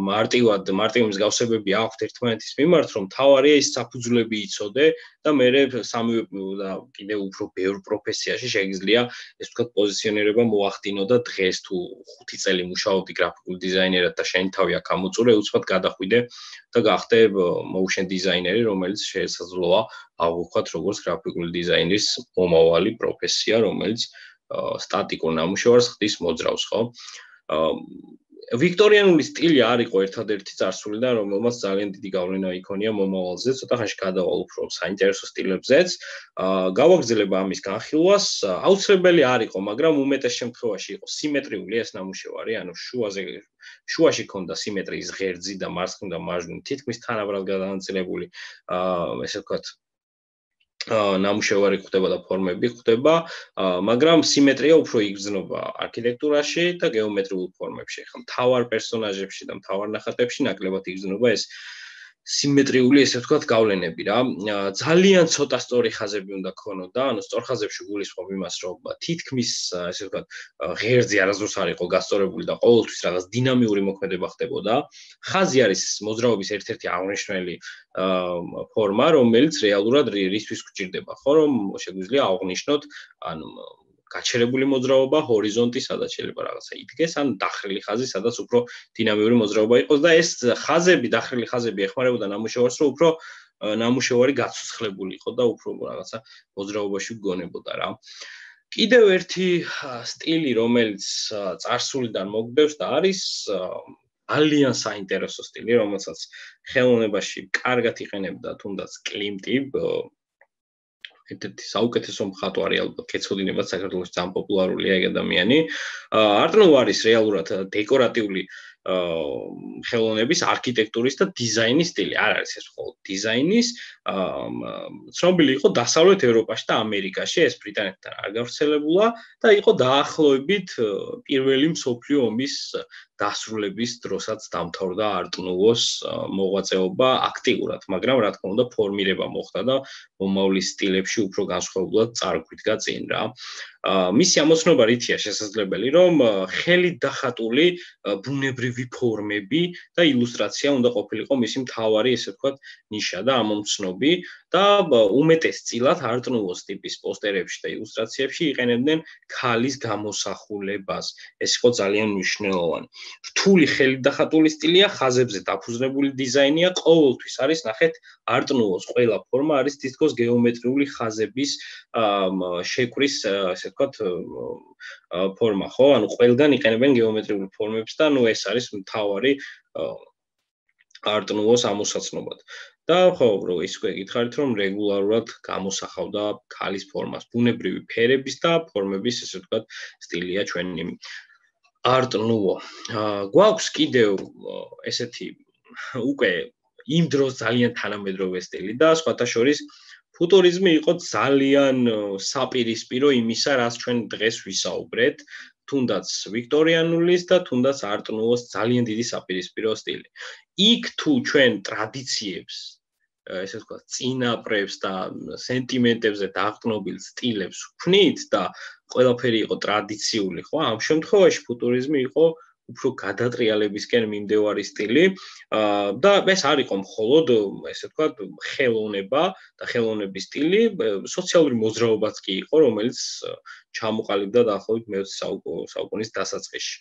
მარტივად, მარტივი მსგავსებები აქვთ ერთმანეთის მიმართ, რომ თავარია ის საფუძვლები იცოდე და მერე სამივე და კიდევ უფრო ბევრ პროფესიაში შეიძლება ეს ვთქვათ პოზიციონირება მოახდინო და დღეს თუ ხუთი წელი მუშაობდი გრაფიკულ დიზაინერად და შენი თავი აქ ამოწურე, უცბად გადახვიდე და გახდე motion დიზაინერი, რომელიც შესაძლოა აღვქვათ როგორც გრაფიკული დიზაინის მომავალი პროფესია, რომელიც სტატიკურ ნამუშევარს ხდის მოძრავს, ხო? ვიქტორიანული სტილი არ იყო ერთადერთი წარსული და რომელმაც ძალიან დიდი გავლენა იქონია მომავალზე, ცოტა ხანში გადავალ უფრო საინტერესო სტილებზეც. გავაგრძელებ ამის განხილვას, აუცილებელი არ იყო, მაგრამ უმეტეს შემთხვევაში იყო სიმეტრიული ეს ნამუშევარი, ანუ შუაზე შუაში ქონდა სიმეტრიის ღერძი და მარცხნივ და მარჯვნივ თითქმის თანაბრად გადანაწილებული, ესე ვთქვათ, ნამუშევარი ხდება და ფორმები ხდება, მაგრამ სიმეტრია უფრო იგრძნობა არქიტექტურაში და გეომეტრიულ ფორმებში. ხა მთავარ პერსონაჟებში და მთავარ ნახატებში ნაკლებად იგრძნობა ეს სიმეტრიული, ესე ვთქვათ, გავლენები რა. ძალიან ცოტა სწორი ხაზები უნდა ქონოდა, ანუ სწორ ხაზებში გულისხმობ იმას, რომ თითქმის, ესე ვთქვათ, ღერძი არასდროს არ იყო გასწორებული და ყოველთვის რაღაც დინამიური მოქმედება ხდებოდა. ხაზი არის მოძრაობის ერთ-ერთი აღნიშნული ფორმა, რომელიც რეალურად რისთვის გვჭირდება, ხო, რომ შეგვიძლია აღვნიშნოთ, ანუ გაჩერებული მოძრაობა ჰორიზონტი, სადაც შეიძლება რაღაცა იდგეს, ან დახრილი ხაზი, სადაც უფრო დინამიური მოძრაობა იყოს და ეს ხაზები, დახრილი ხაზები ეხმარებოდა ნამუშევარს, რომ უფრო ნამუშევარი გაცოცხლებული იყო და უფრო რაღაცა მოძრაობაში გგონებოდა რა. კიდევ ერთი სტილი, რომელიც წარსულიდან მოგდევს და არის ძალიან საინტერესო სტილი, რომელსაც ხელოვნებაში კარგად იყენებდა თუნდაც კლიმტი, ერთ-ერთი საუკეთესო მხატვარი ალბათ კეცოდინებად საქართველოში ძალიან პოპულარულია ეგ ადამიანი. არტ-ნუვო არის რეალურად დეკორატიული ხელოვნების, არქიტექტურის და დიზაინის სტილი. არ არის ეს მხოლოდ დიზაინის, ცნობილი იყო დასავლეთ ევროპაში და ამერიკაში, ეს ბრიტანეთთან არ გავრცელებულა და იყო დაახლოებით პირველი მსოფლიო ომის დასრულების დროსაც დამთავრდა არტ-ნუვოს მოღვაწეობა აქტიურად, მაგრამ რა თქმა უნდა ფორმირება მოხდა და მომავლის სტილებში უფრო განსხვავებულად წარგვიდგა წინ რა. მისი ამოცნობა რითია შესაძლებელი, რომ ხელით დახატული ბუნებრივი ფორმები და ილუსტრაცია უნდა ყოფილიყო მისი მთავარი, ესე ვთქვათ, ნიშა და ამომცნობი და უმეტესწილად არტ-ნუვოს ტიპის პოსტერებში და ილუსტრაციებში იყენებდნენ ქალის გამოსახულებას. ეს იყო ძალიან მნიშვნელოვანი. რთული ხელით დახატული სტილია, ხაზებზე დაფუძნებული დიზაინია, ყოველთვის არის ნახეთ არტ-ნუვოს ყველა ფორმა არის თითქოს გეომეტრიული ხაზების შეკვრის, ესე ვთქვათ, ფორმა, ხო? ანუ ყველგან იყენებენ გეომეტრიულ ფორმებს და ნუ ეს არის მთავარი არტ-ნუვოს ამოსაცნობად. და ხო, რო ის უკვე გითხარით, რომ რეგულარულად გამოსახავდა ქალის ფორმას, ბუნებრივი ფერების და ფორმების, ესე ვთქვათ, სტილია ჩვენი არტ-ნუვო. გვაქვს კიდევ ესეთი უკვე იმ დროს ძალიან თანამედროვე სტილი და სხვათა შორის ფუტურიზმი იყო ძალიან საპირისპირო იმისა, რაც ჩვენ დღეს ვისაუბრეთ, თუნდაც ვიქტორიანულის და თუნდაც არტ-ნუვოს ძალიან დიდი საპირისპირო სტილი. იქ თუ ჩვენ ტრადიციებს, ესე ვთქვათ, წინაპრებს და სენტიმენტებზე დაყრდნობილ სტილებს ვქნით და ყველაფერი იყო ტრადიციული, ხო? ამ შემთხვევაში ფუტურიზმი იყო უფრო გადატრიალებისკენ მიმდევარი სტილი და ეს არ იყო მხოლოდ, ესე ვთქვათ, ხელოვნება და ხელოვნების სტილი, სოციალური მოძრაობაც კი იყო, რომელიც ჩამოყალიბდა დაახლოებით მეოცე საუკუნის დასაწყისში.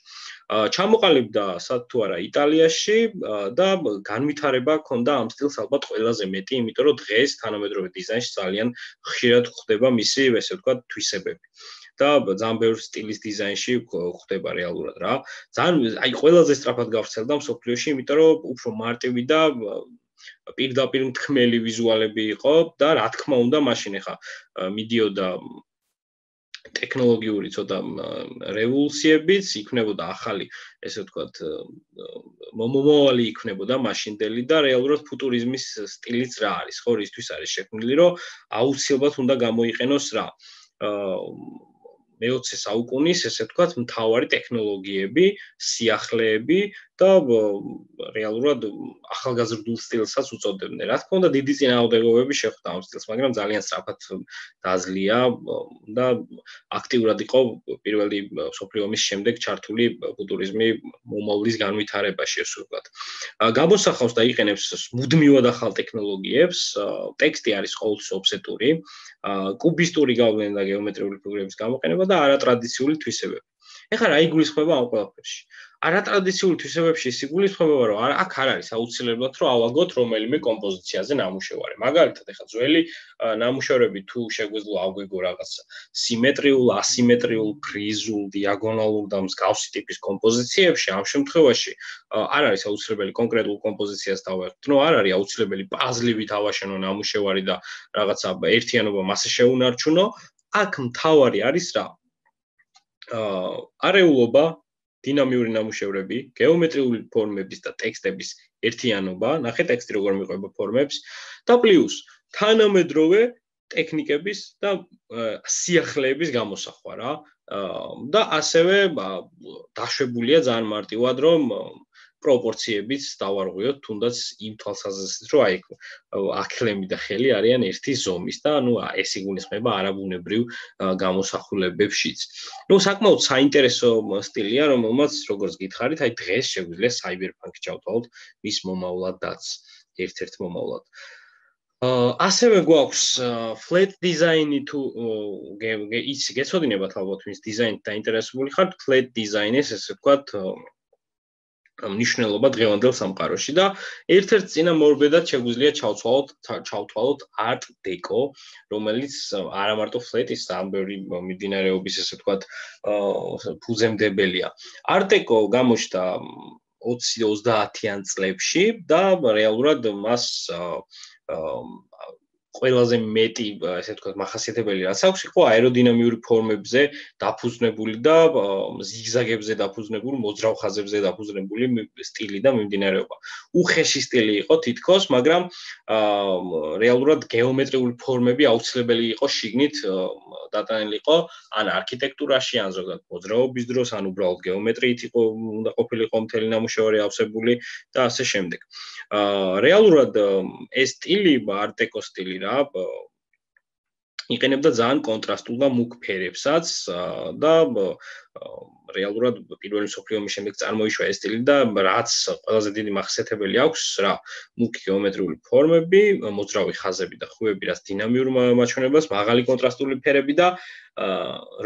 ჩამოყალიბდა სად თუ არა იტალიაში და განვითარება ჰქონდა ამ სტილს ალბათ ყველაზე მეტი, იმიტომ რომ დღეს თანამედროვე დიზაინში ძალიან ხშირად გვხდება მისი, ესე ვთქვათ, თვისებები. და ძალიან ბევრ სტილის დიზაინში ხდება რეალურად რა. ძალიან აი ყველაზე სწრაფად გავრცელდა მსოფლიოში, იმიტომ რომ უფრო მარტივი და პირდაპირ მთქმელი ვიზუალები იყო და რა თქმა უნდა, მაშინ ახლა მიდიოდა ტექნოლოგიური ცოტა რევოლუციებიც, იქნებოდა ახალი, ესე ვთქვათ, მომავალი იქნებოდა მაშინდელი და რეალურად ფუტურიზმის სტილიც რა არის, ხო, რისთვის არის შექმნილი, რომ აუცილებლად უნდა გამოიყენოს რა. მეოცე საუკუნის, ესე ვთქვათ, მთავარი ტექნოლოგიები, სიახლეები და რეალურად ახალგაზრდულ სტილსაც უწოდებდნენ. რა თქმა უნდა, დიდი წინააღმდეგობები შეხვდა ამ სტილს, მაგრამ ძალიან სწრაფად დაძლია და აქტიურად იყო პირველი მსოფლიო ომის შემდეგ ჩართული ფუტურიზმი მომავლის განვითარებაში, ასე ვთქვათ. გამოსახავს და იყენებს მუდმივად ახალ ტექნოლოგიებს, ტექსტი არის ყოველთვის ოფსეტური, კუბისტური გავლენა და გეომეტრიული ფიგურების გამოყენება და არატრადიციული თვისებები. ეხლა რა იგულისხმება ამ ყველაფერში? არატრადიციული თვისებებში ის იგულისხმება, რომ აქ არ არის აუცილებლად რომ ავაგოთ რომელიმე კომპოზიციაზე ნამუშევარი. მაგალითად, ეხლა ძველი ნამუშევრები თუ შეგვეძლო ავგეგო რაღაც სიმეტრიულ, ასიმეტრიულ, ფრიზულ, დიაგონალურ და მსგავსი ტიპის კომპოზიციებში, ამ შემთხვევაში არ არის აუცილებელი კონკრეტულ კომპოზიციას დავაერთო, ნუ არ არის აუცილებელი პაზლივით ავაშენო ნამუშევარი და რაღაცა ერთიანობა მასე შეუნარჩუნო. აქ მთავარი არის რა? არეულობა, დინამიური ნამუშევრები, გეომეტრიული ფორმების და ტექსტების ერთიანობა, ნახე ტექსტი როგორ მიყვება ფორმებს და პლუს თანამედროვე ტექნიკების და სიახლეების გამოსახვა რა. და ასევე დაშვებულია ძალიან მარტივად, რომ პროპორციებიც დავარღვიოთ, თუნდაც იმ თვალსაზრისით, რომ აი აქლემი და ხელი არიან ერთი ზომის და ნუ ეს იგულისხმება არაბუნებრივ გამოსახულებებშიც. ნუ საკმაოდ საინტერესო სტილია, რომელმაც როგორც გითხარით, აი დღეს შეგვიძლია Cyberpunk ჩავთვალოთ მის მომავლადაც, ერთ-ერთ მომავლად. ასევე გვაქვს flat design-ი თუ იცი გეცოდინებათ ალბათ მის დიზაინით დაინტერესებული ხართ, flat design-ის ესე ვთქვათ მნიშვნელობა დღევანდელ სამყაროში და ერთ-ერთ წინამორბედად შეგვიძლია ჩავთვალოთ ჩავთვალოთ art deco, რომელიც არა მარტო flat-ის ამბერი მიმდინარეობის ესე ვთქვათ ფუძემდებელია. Art deco გამოჩნდა ოცი ოცდაათიან წლებში და რეალურად მას ყველაზე მეტი ესე ვთქვათ მახასიათებელი რაც აქვს იყო აეროდინამიური ფორმებზე დაფუძნებული და ზიგზაგებზე დაფუძნებული, მოძრავ ხაზებზე დაფუძნებული სტილი და მიმდინარეობა. უხეში სტილი იყო თითქოს, მაგრამ რეალურად გეომეტრიული ფორმები აუცილებელი იყო შიგნით დატანილიყო ან არქიტექტურაში, ან ზოგადად მოძრაობის დროს, ან უბრალოდ გეომეტრიით იყო უნდა ყოფილიყო მთელი ნამუშევარი ავსებული და ასე შემდეგ. რეალურად ეს სტილი, art deco სტილი რა, იყენებდა ძალიან კონტრასტულ და მუქ ფერებსაც და რეალურად პირველი მსოფლიო ომის შემდეგ წარმოიშვა ეს სტილი და რაც ყველაზე დიდი მახასიათებელი აქვს რა, მუქი გეომეტრიული ფორმები, მოძრავი ხაზები და ხუები, რაც დინამიურ მაჩვენებლებს, მაღალი კონტრასტული ფერები და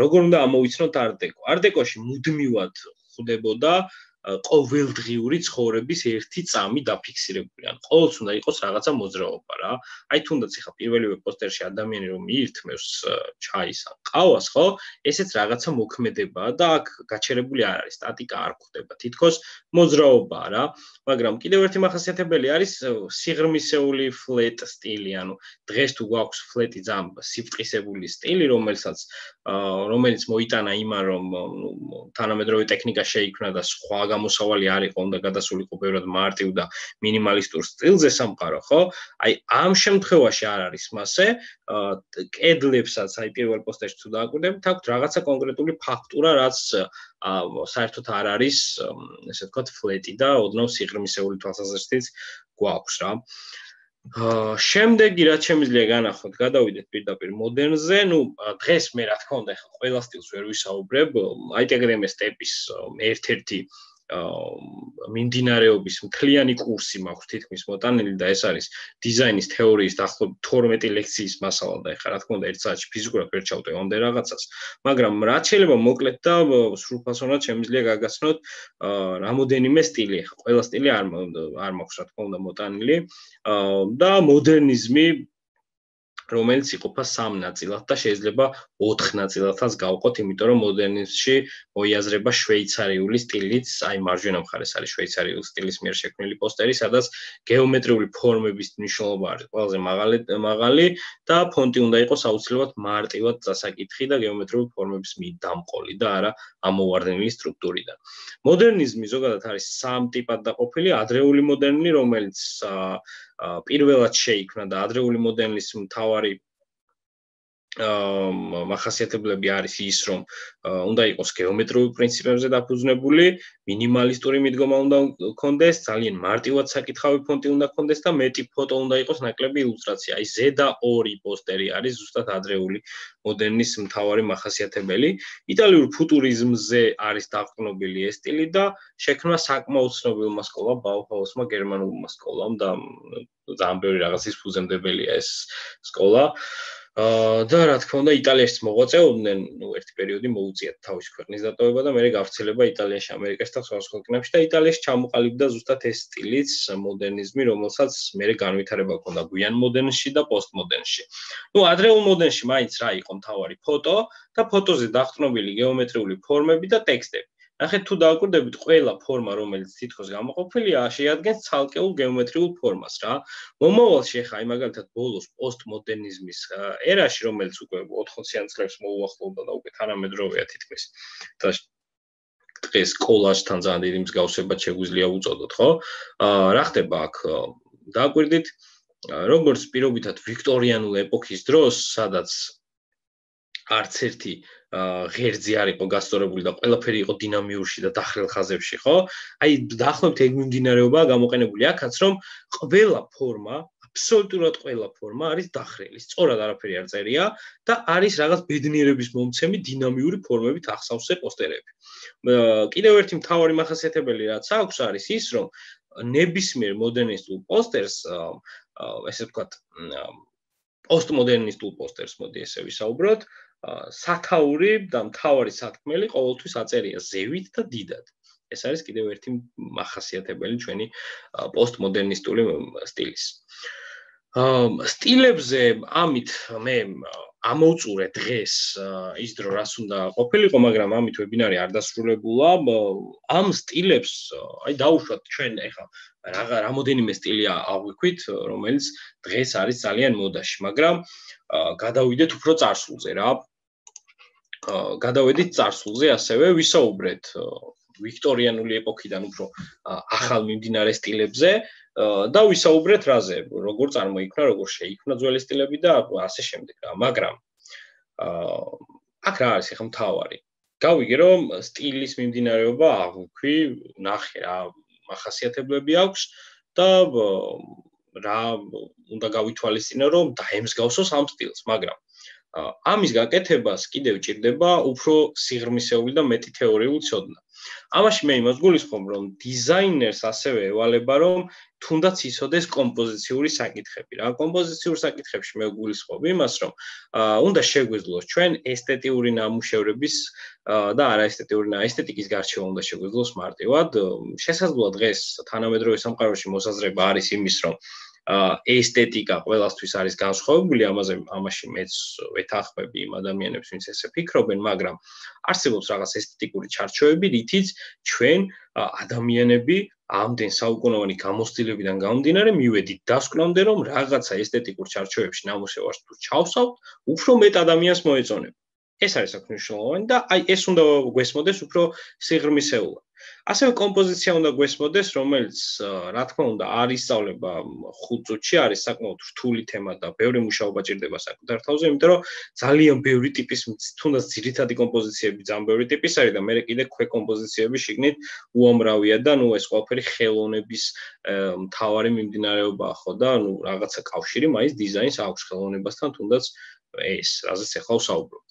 როგორ უნდა ამოვიცნოთ art deco. art deco-ში მუდმივად ხვდებოდა ყოველდღიური ცხოვრების ერთი წამი დაფიქსირებული. ან ყოველთვის უნდა იყოს რაღაცა მოძრაობა რა. აი თუნდაც ახლა პირველივე პოსტერში ადამიანი რომ მიირთმევს ჩაის ან ყავას, ხო? ესეც რაღაცა მოქმედებაა და აქ გაჩერებული არ არის, სტატიკა არ გვხვდება. თითქოს მოძრაობაა რა. მაგრამ კიდევ ერთი მახასიათებელი არის სიღრმისეული flat სტილი, ანუ დღეს თუ გვაქვს flat-ი ძალიან სიფტყისებული სტილი, რომელსაც რომელიც მოიტანა იმან რომ თანამედროვე ტექნიკა შეიქმნა და სხვა გამოსავალი არ იყო, უნდა გადასულიყო ბევრად მარტივ და მინიმალისტურ სტილზე სამყარო, ხო? აი ამ შემთხვევაში არ არის მასე, კედლებსაც აი პირველ პოსტერში თუ დააკვირდებით, აქვთ რაღაცა კონკრეტული ფაქტურა, რაც საერთოდ არ არის, ესე ვთქვათ, flat-ი და ოდნავ სიღრმისეული თვალსაზრისით გვაქვს რა. შემდეგი რაც შემიძლია განახოთ, გადავიდეთ პირდაპირ მოდერნზე, ნუ დღეს მე რა თქმა უნდა ახლა ყველა სტილს ვერ ვისაუბრებ, აიტეგრემეს სტეპის ერთ-ერთი მიმდინარეობის მთლიანი კურსი მაქვს თითქმის მოტანილი და ეს არის დიზაინის თეორიის დაახლოებით თორმეტი ლექციის მასალა და ეხლა რა თქმა უნდა ერთ საათში ფიზიკურად ვერ ჩავტევ ამდენ რაღაცას, მაგრამ რაც შეიძლება მოკლედ და სრულფასოვნად შემიძლია გაგაცნოთ რამოდენიმე სტილი, ეხლა ყველა სტილი არ არ მაქვს რა თქმა უნდა მოტანილი და მოდერნიზმი რომელიც იყოფა სამ ნაწილად და შეიძლება ოთხ ნაწილადაც გავყოთ, იმიტომ რომ მოდერნიზმში მოიაზრება შვეიცარიული სტილიც, აი მარჯვენა მხარეს არის შვეიცარიული სტილის მიერ შექმნილი პოსტერი, სადაც გეომეტრიული ფორმების მნიშვნელობა არის ყველაზე მაღალი მაღალი და ფონტი უნდა იყოს აუცილებლად მარტივად წასაკითხი და გეომეტრიული ფორმების მიდამყოლი და არა ამოვარდნილი სტრუქტურიდან. მოდერნიზმი ზოგადად არის სამ ტიპად დაყოფილი, ადრეული მოდერნი, რომელიც პირველად შეიქმნა და ადრეული მოდერნის მთავარი მახასიათებლები არის ის, რომ უნდა იყოს გეომეტრიულ პრინციპებზე დაფუძნებული, მინიმალისტური მიდგომა უნდა ჰქონდეს, ძალიან მარტივად საკითხავი ფონტი უნდა ჰქონდეს და მეტი ფოტო უნდა იყოს, ნაკლები ილუსტრაცია. აი ზედა ორი პოსტერი არის ზუსტად ადრეული მოდერნის მთავარი მახასიათებელი. იტალიურ ფუტურიზმზე არის დაყრდნობილი ეს სტილი და შექმნა საკმაოდ ცნობილმა სკოლამ, ბაუჰაუსმა, გერმანულმა სკოლამ და ძალიან ბევრი რაღაცის ფუძემდებელია ეს სკოლა. და რა თქმა უნდა იტალიაშიც მოღვაწეობდნენ, ნუ ერთი პერიოდი მოუწიათ თავის ქვეყნის დატოვება და მერე გავრცელება იტალიაში, ამერიკაში და სხვა ქვეყნებში და იტალიაში ჩამოყალიბდა ზუსტად ეს სტილიც, მოდერნიზმი, რომელსაც მერე განვითარება ჰქონდა გვიან მოდერნში და პოსტმოდერნში. ნუ ადრეულ მოდერნში მაინც რა იყო მთავარი ფოტო და ფოტოზე დაყრდნობილი გეომეტრიული ფორმები და ტექსტები. ნახეთ თუ დააკვირდებით, ყველა ფორმა, რომელიც თითქოს გამოყოფილია, შეადგენს ცალკეულ გეომეტრიულ ფორმას რა. მომავალში ახლა აი მაგალითად ბოლოს პოსტმოდერნიზმის ერაში, რომელიც უკვე ოთხმოციან წლებს მოუახლოვდა და უკვე თანამედროვეა თითქმის და დღეს კოლაჟთან ძალიან დიდი მსგავსება შეგვიძლია უწოდოთ, ხო? რა ხდება აქ? დააკვირდით, როგორც პირობითად ვიქტორიანულ ეპოქის დროს, სადაც არც ერთი ღერძი არ იყო გასწორებული და ყველაფერი იყო დინამიურში და დახრილ ხაზებში, ხო? აი დაახლოებით ეგ მიმდინარეობაა გამოყენებული აქაც, რომ ყველა ფორმა, აბსოლუტურად ყველა ფორმა არის დახრილი, სწორად არაფერი არ წერია და არის რაღაც ბედნიერების მომცემი დინამიური ფორმებით ახსავსე პოსტერები. კიდევ ერთი მთავარი მახასიათებელი რაც აქვს არის ის, რომ ნებისმიერ მოდერნისტულ პოსტერს, ესე ვთქვათ, პოსტმოდერნისტულ პოსტერს მოდი ესე ვისაუბროთ, სათაური და მთავარი სათქმელი ყოველთვის აწერია ზევით და დიდად. ეს არის კიდევ ერთი მახასიათებელი ჩვენი პოსტმოდერნისტული სტილის. სტილებზე ამით მე ამოვწურე დღეს ის დრო რაც უნდა ყოფილიყო, მაგრამ ამით ვებინარი არ დასრულებულა. ამ სტილებს აი დაუშვათ ჩვენ ეხლა რაღა რამოდენიმე სტილი აღვიქვით, რომელიც დღეს არის ძალიან მოდაში, მაგრამ გადავიდეთ უფრო წარსულზე რა. გადავედით წარსულზე, ასევე ვისაუბრეთ ვიქტორიანული ეპოქიდან უფრო ახალ მიმდინარე სტილებზე და ვისაუბრეთ რაზე, როგორ წარმოიქმნა, როგორ შეიქმნა ძველი სტილები და ასე შემდეგ რა. მაგრამ აქ რა არის ახლა მთავარი? გავიგე რომ სტილის მიმდინარეობა აღვიქვი, ნახე რა მახასიათებლები აქვს და რა უნდა გავითვალისწინო რომ დაემსგავსოს ამ სტილს, მაგრამ ამის გაკეთებას კიდევ ჭირდება უფრო სიღრმისეული და მეტი თეორიული ცოდნა. ამაში მე იმას გულისხმობ, რომ დიზაინერს ასევე ევალება, რომ თუნდაც იცოდეს კომპოზიციური საკითხები. რა კომპოზიციურ საკითხებში მე გულისხმობ იმას, რომ უნდა შეგვეძლოს ჩვენ ესთეტიური ნამუშევრების და არაესთეტიური ესთეტიკის გარჩევა უნდა შეგვეძლოს მარტივად. შესაძლოა დღეს თანამედროვე სამყაროში მოსაზრება არის იმის, რომ ესთეტიკა ყველასთვის არის განსხვავებული, ამაზე ამაში მეც ვეთანხმები იმ ადამიანებს, ვინც ესე ფიქრობენ, მაგრამ არსებობს რაღაც ესთეტიკური ჩარჩოები, რითიც ჩვენ ადამიანები ამდენ საუკუნოვანი გამოცდილებიდან გამომდინარე მივედით დასკვნამდე, რომ რაღაცა ესთეტიკურ ჩარჩოებში ნამუშევარს თუ ჩავსავთ, უფრო მეტ ადამიანს მოეწონება. ეს არის აქ მნიშვნელოვანი და აი ეს უნდა გვესმოდეს უფრო სიღრმისეულად. ასევე კომპოზიცია უნდა გვესმოდეს, რომელიც რა თქმა უნდა არ ისწავლება ხუთ წუთში, არის საკმაოდ რთული თემა და ბევრი მუშაობა ჭირდება საკუთარ თავზე, იმიტომ რომ ძალიან ბევრი ტიპის თუნდაც ძირითადი კომპოზიციები ძალიან ბევრი ტიპის არის და მე კიდე ქვე კომპოზიციები შიგნით უამრავია და ნუ ეს ყველაფერი ხელოვნების მთავარი მიმდინარეობაა ხო და ნუ რაღაცა კავშირი მაინც დიზაინს აქვს ხელოვნებასთან, თუნდაც ეს რაზეც ახლა ვსაუბრობ.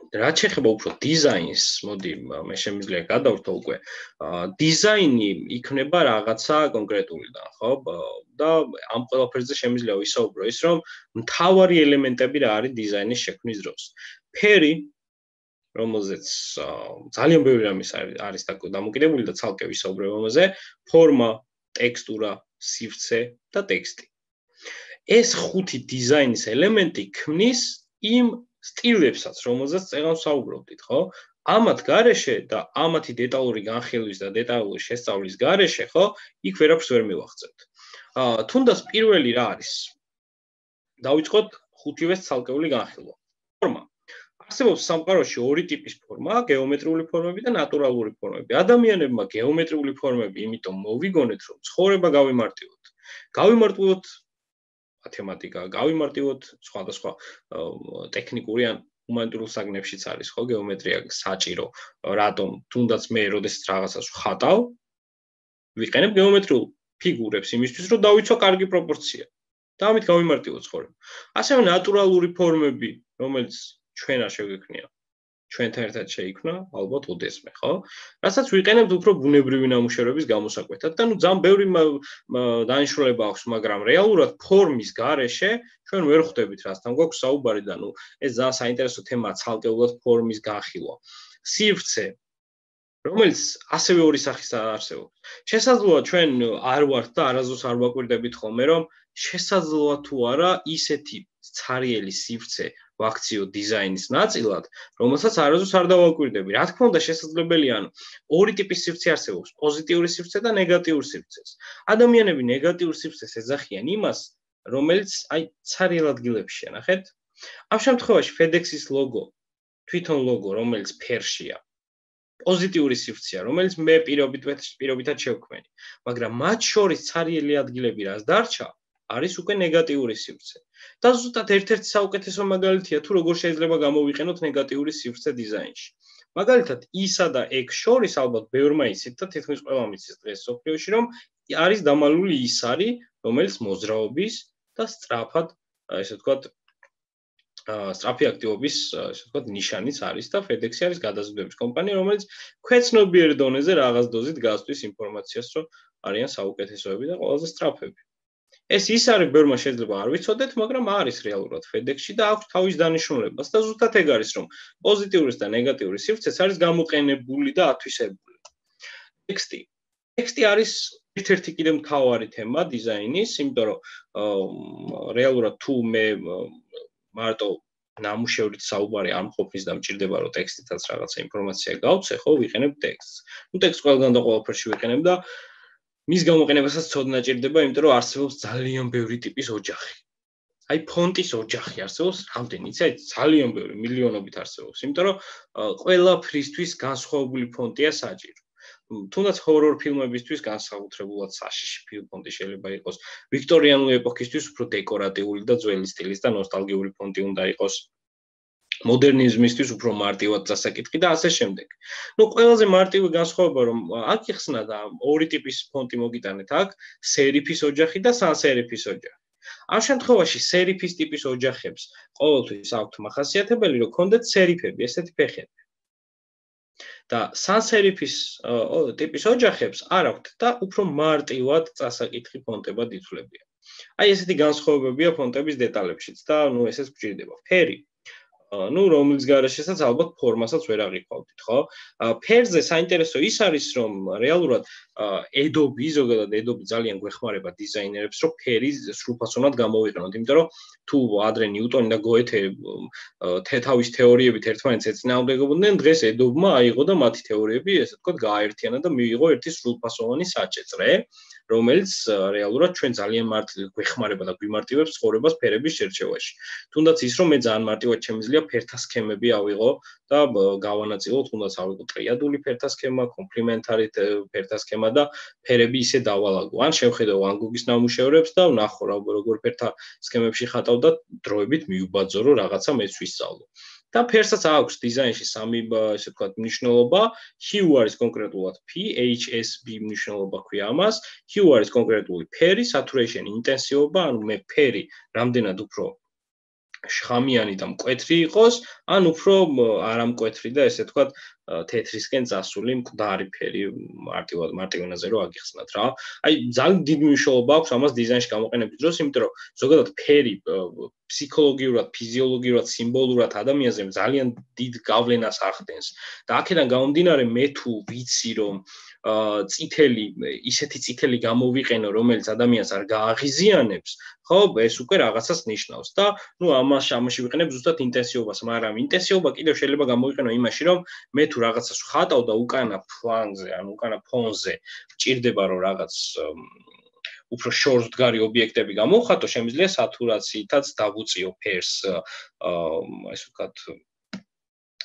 რაც შეეხება უფრო დიზაინს, მოდი მე შემიძლია გადავრთო უკვე. დიზაინი იქნება რაღაცა კონკრეტულიდან, ხო? და ამ ყველაფერზე შემიძლია ვისაუბრო ის, რომ მთავარი ელემენტები რა არის დიზაინის შექმნის დროს. ფერი, რომელზეც ძალიან ბევრი რამე არის დამოკიდებული და ცალკე ვისაუბრებ ამაზე, ფორმა, ტექსტურა, სივრცე და ტექსტი. ეს ხუთი დიზაინის ელემენტი ქმნის იმ სტილებსაც, რომელზეც წეგან ვსაუბრობდით, ხო? ამათ გარეშე და ამათი დეტალური განხილვის და დეტალური შესწავლის გარეშე, ხო, იქ ვერაფერს ვერ მივახცევთ. თუნდაც პირველი რა არის? დავიწყოთ ხუთივეს ცალკეული განხილვა. ფორმა. არსებობს სამყაროში ორი ტიპის ფორმა, გეომეტრიული ფორმები და ნატურალური ფორმები. ადამიანებმა გეომეტრიული ფორმები იმიტომ მოვიგონეთ, რომ ცხოვრება გავიმარტივოთ. გავიმარტივოთ მათემატიკა, გავიმარტივოთ სხვადასხვა ტექნიკური ან ჰუმანიტარულ საგნებშიც არის, ხო, გეომეტრია საჭირო. რატომ? თუნდაც მე როდესაც რაღაცას ვხატავ, ვიყენებ გეომეტრიულ ფიგურებს იმისთვის, რომ დავიცვა კარგი პროპორცია. და ამით გავიმარტივოთ ცხოვრება. ასევე ნატურალური ფორმები, რომელიც ჩვენ არ შეგვექმნია. ჩვენთან ერთად შეიქმნა, ალბათ ოდესმე, ხო? რასაც ვიყენებთ უფრო ბუნებრივი ნამუშევრების გამოსაკვეთად და ნუ ძალიან ბევრი დანიშნულება აქვს, მაგრამ რეალურად ფორმის გარეშე ჩვენ ვერ ხვდებით რასთან გვაქვს საუბარი და ნუ ეს ძალიან საინტერესო თემაა ცალკეულად ფორმის განხილვა. სივრცე, რომელიც ასევე ორი სახის არსებობს. შესაძლოა ჩვენ არ ვართ და არასდროს არ ვაკვირდებით ხოლმე, რომ შესაძლოა თუ არა ისეთი ცარიელი სივრცე ვაქციო დიზაინის ნაწილად, რომელსაც არასდროს არ დავაკვირდები. რა თქმა უნდა, შესაძლებელია, ანუ ორი ტიპის სივრცე არსებობს, პოზიტიური სივრცე და ნეგატიური სივრცეს. ადამიანები ნეგატიურ სივრცეს ეძახიან იმას, რომელიც აი ცარიელ ადგილებშია, ნახეთ? ამ შემთხვევაში FedEx-ის ლოგო, თვითონ ლოგო, რომელიც ფერშია, პოზიტიური სივრცეა, რომელიც მე პირობითად შევქმენი. მაგრამ მათ შორის ცარიელი ადგილები რას დარჩა? არის უკვე ნეგატიური სივრცე. და ზუსტად ერთ-ერთი საუკეთესო მაგალითია თუ როგორ შეიძლება გამოვიყენოთ ნეგატიური სივრცე დიზაინში. მაგალითად, ისა და X შორის ალბათ ბევრმა იცით და თითქმის ყველამ იცის დღეს სოფლიოში, რომ არის დამალული ისარი, რომელიც მოძრაობის და სწრაფად, ესე ვთქვათ, სწრაფი აქტივობის, ესე ვთქვათ, ნიშანიც არის და FedEx-ი არის გადაზიდვების კომპანია, რომელიც ქვეცნობიერ დონეზე რაღაც დოზით გასწვის ინფორმაციას, რომ არიან საუკეთესოები და ყველაზე სწრაფები. ეს ის არის ბევრმა შეიძლება არ ვიცოდეთ, მაგრამ არის რეალურად FedEx-ში და აქვს თავის დანიშნულებას და ზუსტად ეგ არის, რომ პოზიტიურის და ნეგატიური სივრცეც არის გამოყენებული და ათვისებული. ტექსტი. ტექსტი არის ერთ-ერთი კიდე მთავარი თემა დიზაინის, იმიტომ რომ რეალურად თუ მე მარტო ნამუშევრით საუბარი არ მყოფნის და მჭირდება რომ ტექსტითაც რაღაცა ინფორმაცია გავცე, ხო, ვიყენებ ტექსტს. ნუ ტექსტს ყველგან და ყველაფერში ვიყენებ და მის გამოყენებასაც ცოდნა ჭირდება, იმიტომ რომ არსებობს ძალიან ბევრი ტიპის ოჯახი. აი ფონტის ოჯახი არსებობს, რამდენი იცი, აი ძალიან ბევრი, მილიონობით არსებობს, იმიტომ რომ ყველაფრისთვის განსხვავებული ფონტია საჭირო. თუნდაც ჰორორ ფილმებისთვის განსაკუთრებულად საშიში ფონტი შეიძლება იყოს, ვიქტორიანული ეპოქისთვის უფრო დეკორატიული და ძველი სტილის და ნოსტალგიური ფონტი უნდა იყოს. მოდერნიზმისთვის უფრო მარტივად დასაკითხი და ასე შემდეგ. ნუ ყველაზე მარტივი განსხვავება რომ აქ იხსნა და ორი ტიპის ფონტი მოგიტანეთ აქ, სერიფის ოჯახი და სანსერიფის ოჯახი. ამ შემთხვევაში სერიფის ტიპის ოჯახებს ყოველთვის აქვთ მახასიათებელი რომ ქონდეთ სერიფები, ესეთი ფეხები. და სანსერიფის ტიპის ოჯახებს არ აქვთ და უფრო მარტივად დასაკითხი ფონტებად ითვლებიან. აი ესეთი განსხვავებებია ფონტების დეტალებშიც და ნუ ესეც გვჭირდება. ფერი ну, რომლის გარეშესაც ალბათ ფორმასაც ვერ აღიქვავდით, ხო? ფერზე საინტერესო ის არის, რომ რეალურად Adobe, ზოგადად Adobe ძალიან გვეხმარება დიზაინერებს, რომ ფერი სრულფასოვნად გამოვიყენოთ, იმიტომ რომ თუ ადრე ნიუტონი და გოეთე თავის თეორიებით ერთმანეთს ეწინააღმდეგებოდნენ, დღეს Adobe-მა აიღო და მათი თეორიები, ესე ვთქვათ, გააერთიანა და მიიღო ერთი სრულფასოვანი საჭეწრე, რომელიც რეალურად ჩვენ ძალიან მარტივად გვეხმარება და გვიმარტივებს ცხოვრებას ფერების შერჩევაში. თუნდაც ის, რომ მე ძალიან მარტივად შემიძლია ფერთა სქემები ავიღო და გავანაწილო, თუნდაც ავიღო ტრიადული ფერთა სქემა, კომპლიმენტარი ფერთა სქემა და ფერები ისე დავალაგო. ან შევხედო ვან გოგის ნამუშევრებს და ვნახო რა როგორ ფერთა სქემებში ხატავ და დროებით მიუბაძო, რომ რაღაცა მეც ვისწავლო. და ფერსაც აქვს დიზაინში სამი, ესე ვთქვათ, მნიშვნელობა. Hue არის კონკრეტულად P, H S B მნიშვნელობა ქვია ამას. Hue არის კონკრეტული ფერი, saturation ინტენსივობა, ანუ მე ფერი რამდენად უფრო შხამიანი და მკვეთრი იყოს, ან უფრო არამკვეთრი და ესე ვთქვათ, თეთრისკენ წასული მკვდარი ფერი მარტივად მარტივენაზე რო აგიხსნათ რა. აი ძალიან დიდი მნიშვნელობა აქვს ამას დიზაინში გამოყენების დროს, იმიტომ რომ ზოგადად ფერი ფსიქოლოგიურად, ფიზიოლოგიურად, სიმბოლურად ადამიანზე ძალიან დიდ გავლენას ახდენს. და აქედან გამომდინარე მე თუ ვიცი რომ წითელი, ისეთი წითელი გამოვიყენო, რომელიც ადამიანს არ გააღიზიანებს, ხო, ეს უკვე რაღაცას ნიშნავს და ნუ ამას ამაში ვიყენებ ზუსტად ინტენსივობას, მაგრამ ინტენსივობა კიდევ შეიძლება გამოვიყენო იმაში, რომ მე თუ რაღაცას ვხატავ და უკანა ფლანგზე, ან უკანა ფონზე ვჭირდება რომ რაღაც უფრო შორსდგარი ობიექტები გამოვხატო, შემიძლია სატურაციითაც დავუწიო ფერს, ესე ვთქვათ,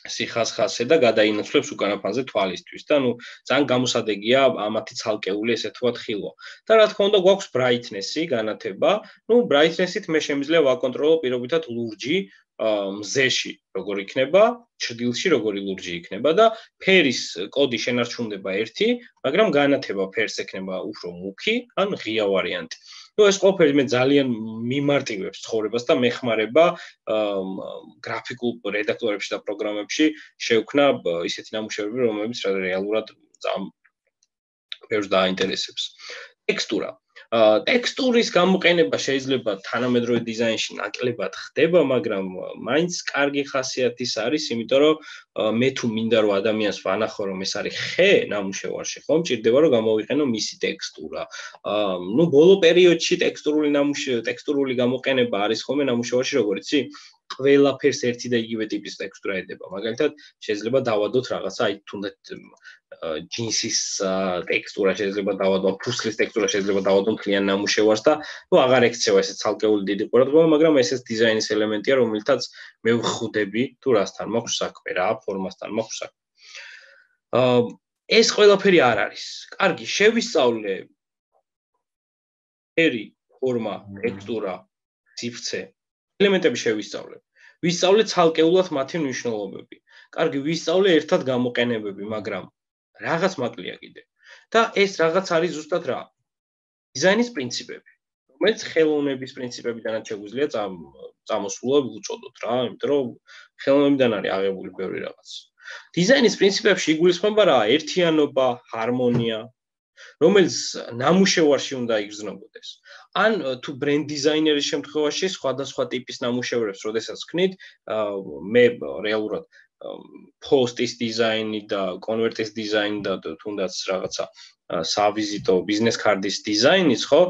სიხასხასე და გადაინაცვლებს უკანა ფონზე თვალისთვის და ნუ ძალიან გამოსადეგია ამათი ცალკეული ესე ვთქვათ ხილვა. და რა თქმა უნდა გვაქვს brightness-ი, განათება. ნუ brightness-ით მე შემიძლია ვაკონტროლო პირობითად ლურჯი მზეში როგორ იქნება, ჩრდილში როგორი ლურჯი იქნება და ფერის კოდი შენარჩუნდება ერთი, მაგრამ განათება ფერს ექნება უფრო მუქი, ან ღია ვარიანტი. ნუ ეს ყველაფერი მე ძალიან მიმარტივებს ცხოვრებას და მეხმარება გრაფიკულ რედაქტორებში და პროგრამებში შევქნა ისეთი ნამუშევრები, რომლებიც რეალურად ძალიან ბევრს დააინტერესებს. ტექსტურა. ტექსტურის გამოყენება შეიძლება თანამედროვე დიზაინში ნაკლებად ხდება, მაგრამ მაინც კარგი ხასიათის არის, იმიტომ რომ მე თუ მინდა რომ ადამიანს ვანახო რომ ეს არის ხე ნამუშევარში, ხო, მჭირდება რომ გამოვიყენო მისი ტექსტურა. ნუ ბოლო პერიოდში ტექსტურული ნამუშევარი, ტექსტურული გამოყენება არის ხოლმე ნამუშევარში, როგორ იცი? ყველაფერს ერთი და იგივე ტიპის ტექსტურა ედება. მაგალითად, შეიძლება დავადოთ რაღაცა, აი თუნდაც ჯინსის ტექსტურა შეიძლება დავადო, ფუსლის ტექსტურა შეიძლება დავადო მთლიან ნამუშევარს და ნუ აღარ ექცევა ესე ცალკეული დიდი ყურადღება, მაგრამ ესეც დიზაინის ელემენტია, რომელთაც მე ვხვდები თუ რასთან მაქვს საქმე, რა ფორმასთან მაქვს საქმე. ეს ყველაფერი არ არის. კარგი, შევისწავლე ფერი, ფორმა, ტექსტურა, სივრცე, ელემენტები შევისწავლებ. ვისწავლეთ ცალკეულად მათი მნიშვნელობები. კარგი, ვისწავლე ერთად გამოყენებები, მაგრამ რაღაც მაკლია კიდე. და ეს რაღაც არის ზუსტად რა? დიზაინის პრინციპები, რომელიც ხელოვნების პრინციპებიდანაც შეგვიძლია წამოსულა უწოდოთ რა, იმიტომ რომ ხელოვნებიდან არის აღებული ბევრი რაღაც. დიზაინის პრინციპებში იგულისხმება რა? ერთიანობა, ჰარმონია, რომელიც ნამუშევარში უნდა იგრძნობოდეს. ან თუ ბრენდ დიზაინერის შემთხვევაში სხვადასხვა ტიპის ნამუშევრებს, როდესაც ვქნით, მე რეალურად პოსტის დიზაინი და კონვერტის დიზაინი და თუნდაც რაღაცა სავიზიტო ბიზნეს კარდის დიზაინიც, ხო,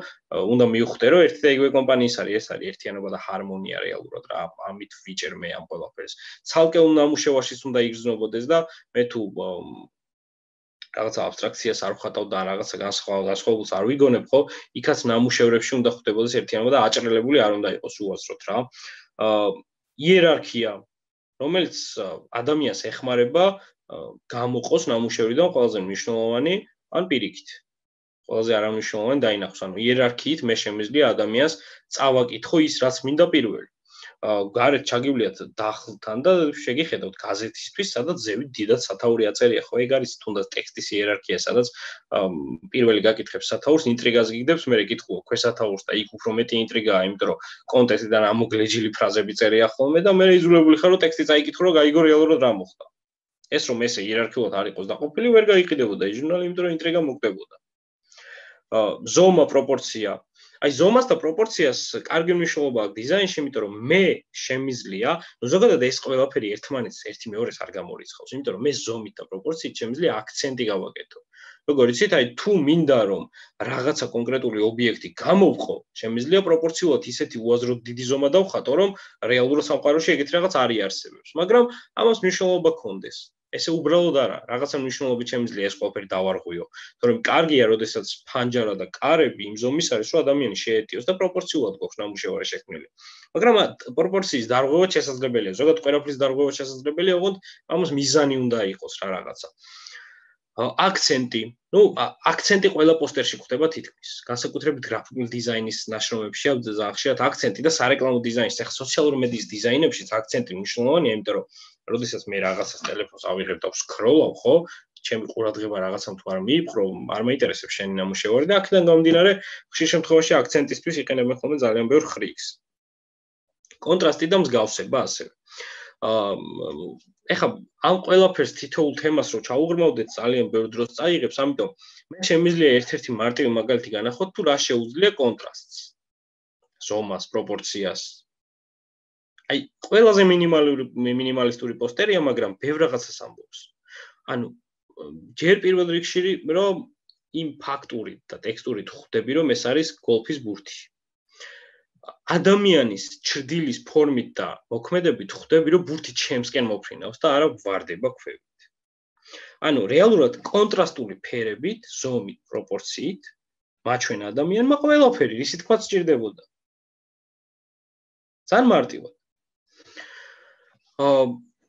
უნდა მივხვდე, რომ ერთი და იგივე კომპანიის არის, ეს არის ერთიანობა და ჰარმონია რეალურად რა, ამით ვიჭერ მე ამ ყველაფერს. ცალკეულ ნამუშევარშიც უნდა იგრძნობოდეს და მე თუ რაღაცა აბსტრაქციას არ ვხატავ და რაღაცა განსხვავებულს არ ვიგონებ, ხო, იქაც ნამუშევრებში უნდა ხვდებოდეს ერთიანობა და აჭრელებული არ უნდა იყოს უაზროდ რა. იერარქია, რომელიც ადამიანს ეხმარება გამოყოს ნამუშევრიდან ყველაზე მნიშვნელოვანი ან პირიქით. ყველაზე არამნიშვნელოვანი დაინახოს, ანუ იერარქიით მე შემიძლია ადამიანს წავაკითხო ის, რაც მინდა პირველი. გარეთ ჩაგივლიათ დახლთან და შეგიხედავთ გაზეთისთვის, სადაც ზევით დიდად სათაური აწერია, ხო, ეგ არის თუნდაც ტექსტის იერარქია, სადაც პირველი გაკითხებს სათაურს, ინტრიგას გიგდებს, მერე კითხულობ ქვესათაურს და იქ უფრო მეტი ინტრიგაა, იმიტომ რომ კონტექსტიდან ამოგლეჯილი ფრაზები წერია ხოლმე და მერე იძულებული ხარ, რომ ტექსტი წაიკითხო, რომ გაიგო რეალურად რა მოხდა. ეს რომ ესე იერარქიულად არ იყოს დაყოფილი, ვერ გაიყიდებოდა ის ჟურნალი, იმიტომ რომ ინტრიგა მოგდებოდა. ზომა, პროპორცია. აი ზომას და პროპორციას კარგი მნიშვნელობა აქვს დიზაინში, იმიტომ რომ მე შემიძლია, ну ზოგადად ეს ყველაფერი ერთმანეთს ერთი მეორეს არ გამორიცხავს, იმიტომ რომ მე ზომით და პროპორციით შემიძლია აქცენტი გავაკეთო. როგორ იცით, აი თუ მინდა რომ რაღაცა კონკრეტული ობიექტი გამოვყო, შემიძლია პროპორციულად ისეთი უაზროდ დიდი ზომა დავხატო, რომ რეალურ სამყაროში ეგეთი რაღაც არ იარსებებს, მაგრამ ამას მნიშვნელობა გქონდეს. ესე უბრალოდ არა, რაღაცა მნიშვნელობით შემიძლია ეს ყველაფერი დავარღვიო. თორემ კარგია, როდესაც ფანჯარა და კარები იმ ზომის არის, რომ ადამიანი შეეტიოს და პროპორციულად გვაქვს ნამუშევარი შექმნილი. მაგრამ პროპორციის დარღვევა შესაძლებელია, ზოგადად ყველაფრის დარღვევა შესაძლებელია, ოღონდ ამას მიზანი უნდა იყოს რა რაღაცა. აქცენტი, ну, აქცენტი ყველა პოსტერში გვხვდება თითქმის. განსაკუთრებით გრაფიკული დიზაინის ნაშრომებში ძალიან ხშირად აქცენტი და სარეკლამო დიზაინში, ახლა სოციალური მედიის დიზაინებშიც აქცენტი მნიშვნელოვანია, იმიტომ რომ როდესაც მე რაღაცას ტელეფონს ავიღებ და ვსკროლავ, ხო, ჩემი ყურადღება რაღაცამ თუ არ მიიპყრო, არ მეინტერესებს შენი ნამუშევარი და აქედან გამომდინარე, ხშირ შემთხვევაში აქცენტისთვის იყენებენ ხოლმე ძალიან ბევრ ხრიგს. კონტრასტი და მსგავსება ასევე. ეხლა ამ ყველაფერს თითოეულ თემას რო ჩაუღრმავდეთ, ძალიან ბევრ დროს წაიღებს, ამიტომ მე შემიძლია ერთ-ერთი მარტივი მაგალითი განახოთ, თუ რა შეუძლია კონტრასტს, ზომას, პროპორციას. აი, ყველაზე მინიმალური მინიმალისტური პოსტერია, მაგრამ ბევრ რაღაცას ამბობს. ანუ ჯერ პირველ რიგში რომ იმ ფაქტურით და ტექსტურით ხვდები, რომ ეს არის გოლფის ბურთი. ადამიანის ჩრდილის ფორმით და მოქმედებით ხვდები, რომ ბურთი ჩემსკენ მოფრინავს და არა ვარდება ქვევით. ანუ რეალურად კონტრასტული ფერებით, ზომით, პროპორციით მაჩვენ ადამიანმა ყველაფერი, ისი თქვა სჭირდებოდა. ძალიან მარტივად.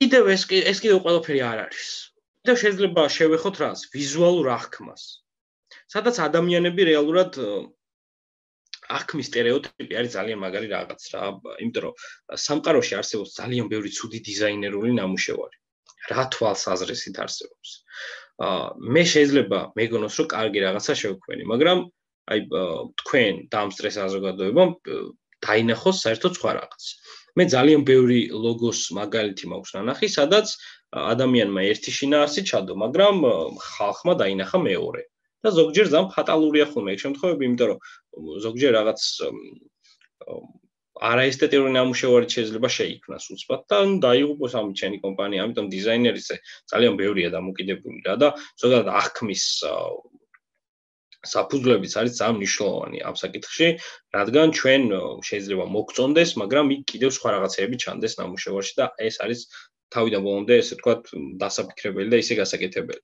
კიდევ ეს ეს კიდევ ყველაფერი არ არის. კიდევ შეიძლება შევეხოთ რას? ვიზუალურ აღქმას. სადაც ადამიანები რეალურად აღქმის სტერეოტიპი არის ძალიან მაგარი რაღაც რა, იმიტომ რომ სამყაროში არსებობს ძალიან ბევრი ცუდი დიზაინერული ნამუშევარი. რა თვალსაზრისით არსებობს. მე შეიძლება მეგონოს, რომ კარგი რაღაცა შევქმნი, მაგრამ აი თქვენ დამსწრე საზოგადოებამ დაინახოს საერთოდ სხვა რაღაც. მე ძალიან ბევრი ლოგოს მაგალითი მაქვს ნანახი, სადაც ადამიანმა ერთი შინაარსი ჩადო, მაგრამ ხალხმა დაინახა მეორე. და ზოგჯერ ძალიან ფატალურია ხოლმე ეგ შემთხვევები, იმიტომ რომ ზოგჯერ რაღაც არაესთეტიური ნამუშევარი შეიძლება შეიქმნას უცბად და დაიღუპოს ამით შენი კომპანია, ამიტომ დიზაინერიზე ძალიან ბევრია დამოკიდებული რა და ზოგადად აღქმის საფუძვლებიც არის ძალიან მნიშვნელოვანი ამ საკითხში, რადგან ჩვენ შეიძლება მოგწონდეს, მაგრამ იქ კიდევ სხვა რაღაცეები ჩანდეს ნამუშევარში და ეს არის თავიდან ბოლომდე, ესე ვთქვათ, დასაფიქრებელი და ისე გასაკეთებელი.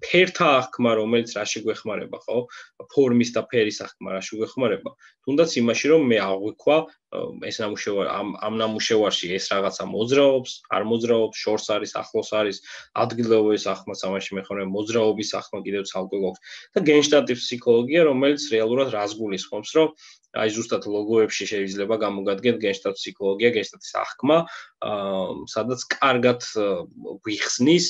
ფერთა აღქმა, რომელიც რაში გვეხმარება, ხო? ფორმის და ფერის აღქმა რაში გვეხმარება. თუნდაც იმაში, რომ მე აღვიქვა ეს ნამუშევარი ამ ამ ნამუშევარში ეს რაღაცა მოძრაობს, არ მოძრაობს, შორს არის, ახლოს არის, ადგილობრივი აღქმაც ამაში მეხმარება, მოძრაობის აღქმა კიდევ ცალკე გვაქვს და გენშტატის ფსიქოლოგია, რომელიც რეალურად რას გულისხმობს, რომ აი ზუსტად ლოგოებში შეიძლება გამოგადგეთ გენშტატ ფსიქოლოგია, გენშტატის აღქმა, სადაც კარგად გვიხსნის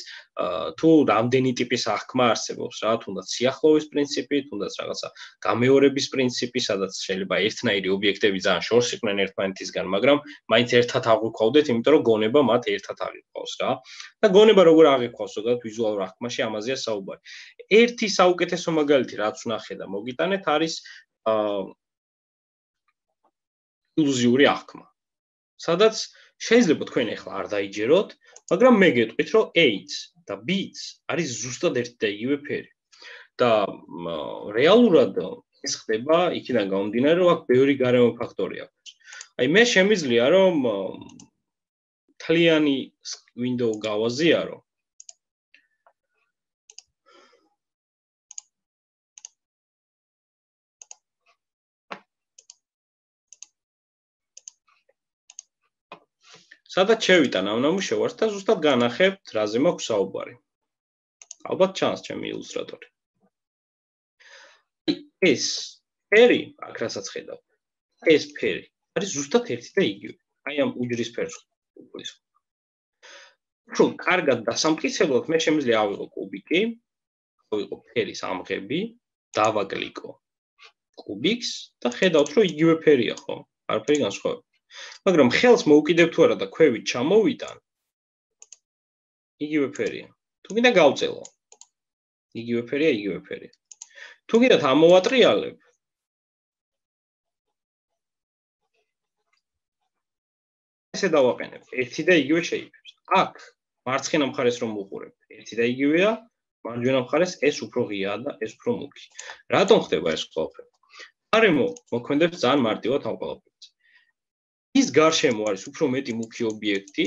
თუ რამდენი ტიპის აღქმა არსებობს რა, თუნდაც სიახლოვის პრინციპი, თუნდაც რაღაცა გამეორების პრინციპი, სადაც შეიძლება ერთნაირი ობიექტები ძალიან შორს იყვნენ ერთმანეთისგან, მაგრამ მაინც ერთად აღვიქვავდეთ, იმიტომ რომ გონება მათ ერთად აღიქვავს რა. და გონება როგორ აღიქვავს, ზოგადად ვიზუალურ აღქმაში ამაზეა საუბარი. ერთი საუკეთესო მაგალითი, რაც ვნახე და მოგიტანეთ, არის ილუზიური აღქმა. სადაც შეიძლება თქვენ ახლა არ დაიჯეროთ, მაგრამ მე გეტყვით, რომ A-ც და B-ც არის ზუსტად ერთი და იგივე ფერი. და რეალურად ეს ხდება იქიდან გამომდინარე, რომ აქ ბევრი გარემო ფაქტორი აქვს. აი მე შემიძლია რომ თლიანი window გავაზიარო. სადაც შევიტან ამ ნამუშევარს და ზუსტად განახებთ, რაზე მაქვს საუბარი. ალბათ ჩანს ჩემი ილუსტრატორი. ეს ფერი, აქ რასაც ხედავ, ეს ფერი არის ზუსტად ერთი და იგივე. აი ამ უჯრის ფერს გულისხმობ. უფრო კარგად დასამტკიცებლად მე შემიძლია ავიღო კუბიკი, ავიღო ფერის ამღები, დავაკლიკო კუბიკს და ხედავთ, რომ იგივე ფერია, ხო? არაფერი განსხვავება. მაგრამ ხელს მოუკიდებ თუ არა და ქვევით ჩამოვიტან, იგივე ფერია. თუ გინდა გავწელო. იგივე ფერია, იგივე ფერია. თუ გინდათ ამოვატრიალებ, ესე დავაყენებ, ერთი და იგივე შეიფებს. აქ მარცხენა მხარეს რომ ვუყურებ, ერთი და იგივეა, მარჯვენა მხარეს ეს უფრო ღიაა და ეს უფრო მუქი. რატომ ხდება ეს ყველაფერი? გარემო მოქმედებს ძალიან მარტივად ამ ყველაფერს. ის გარშემო არის უფრო მეტი მუქი ობიექტი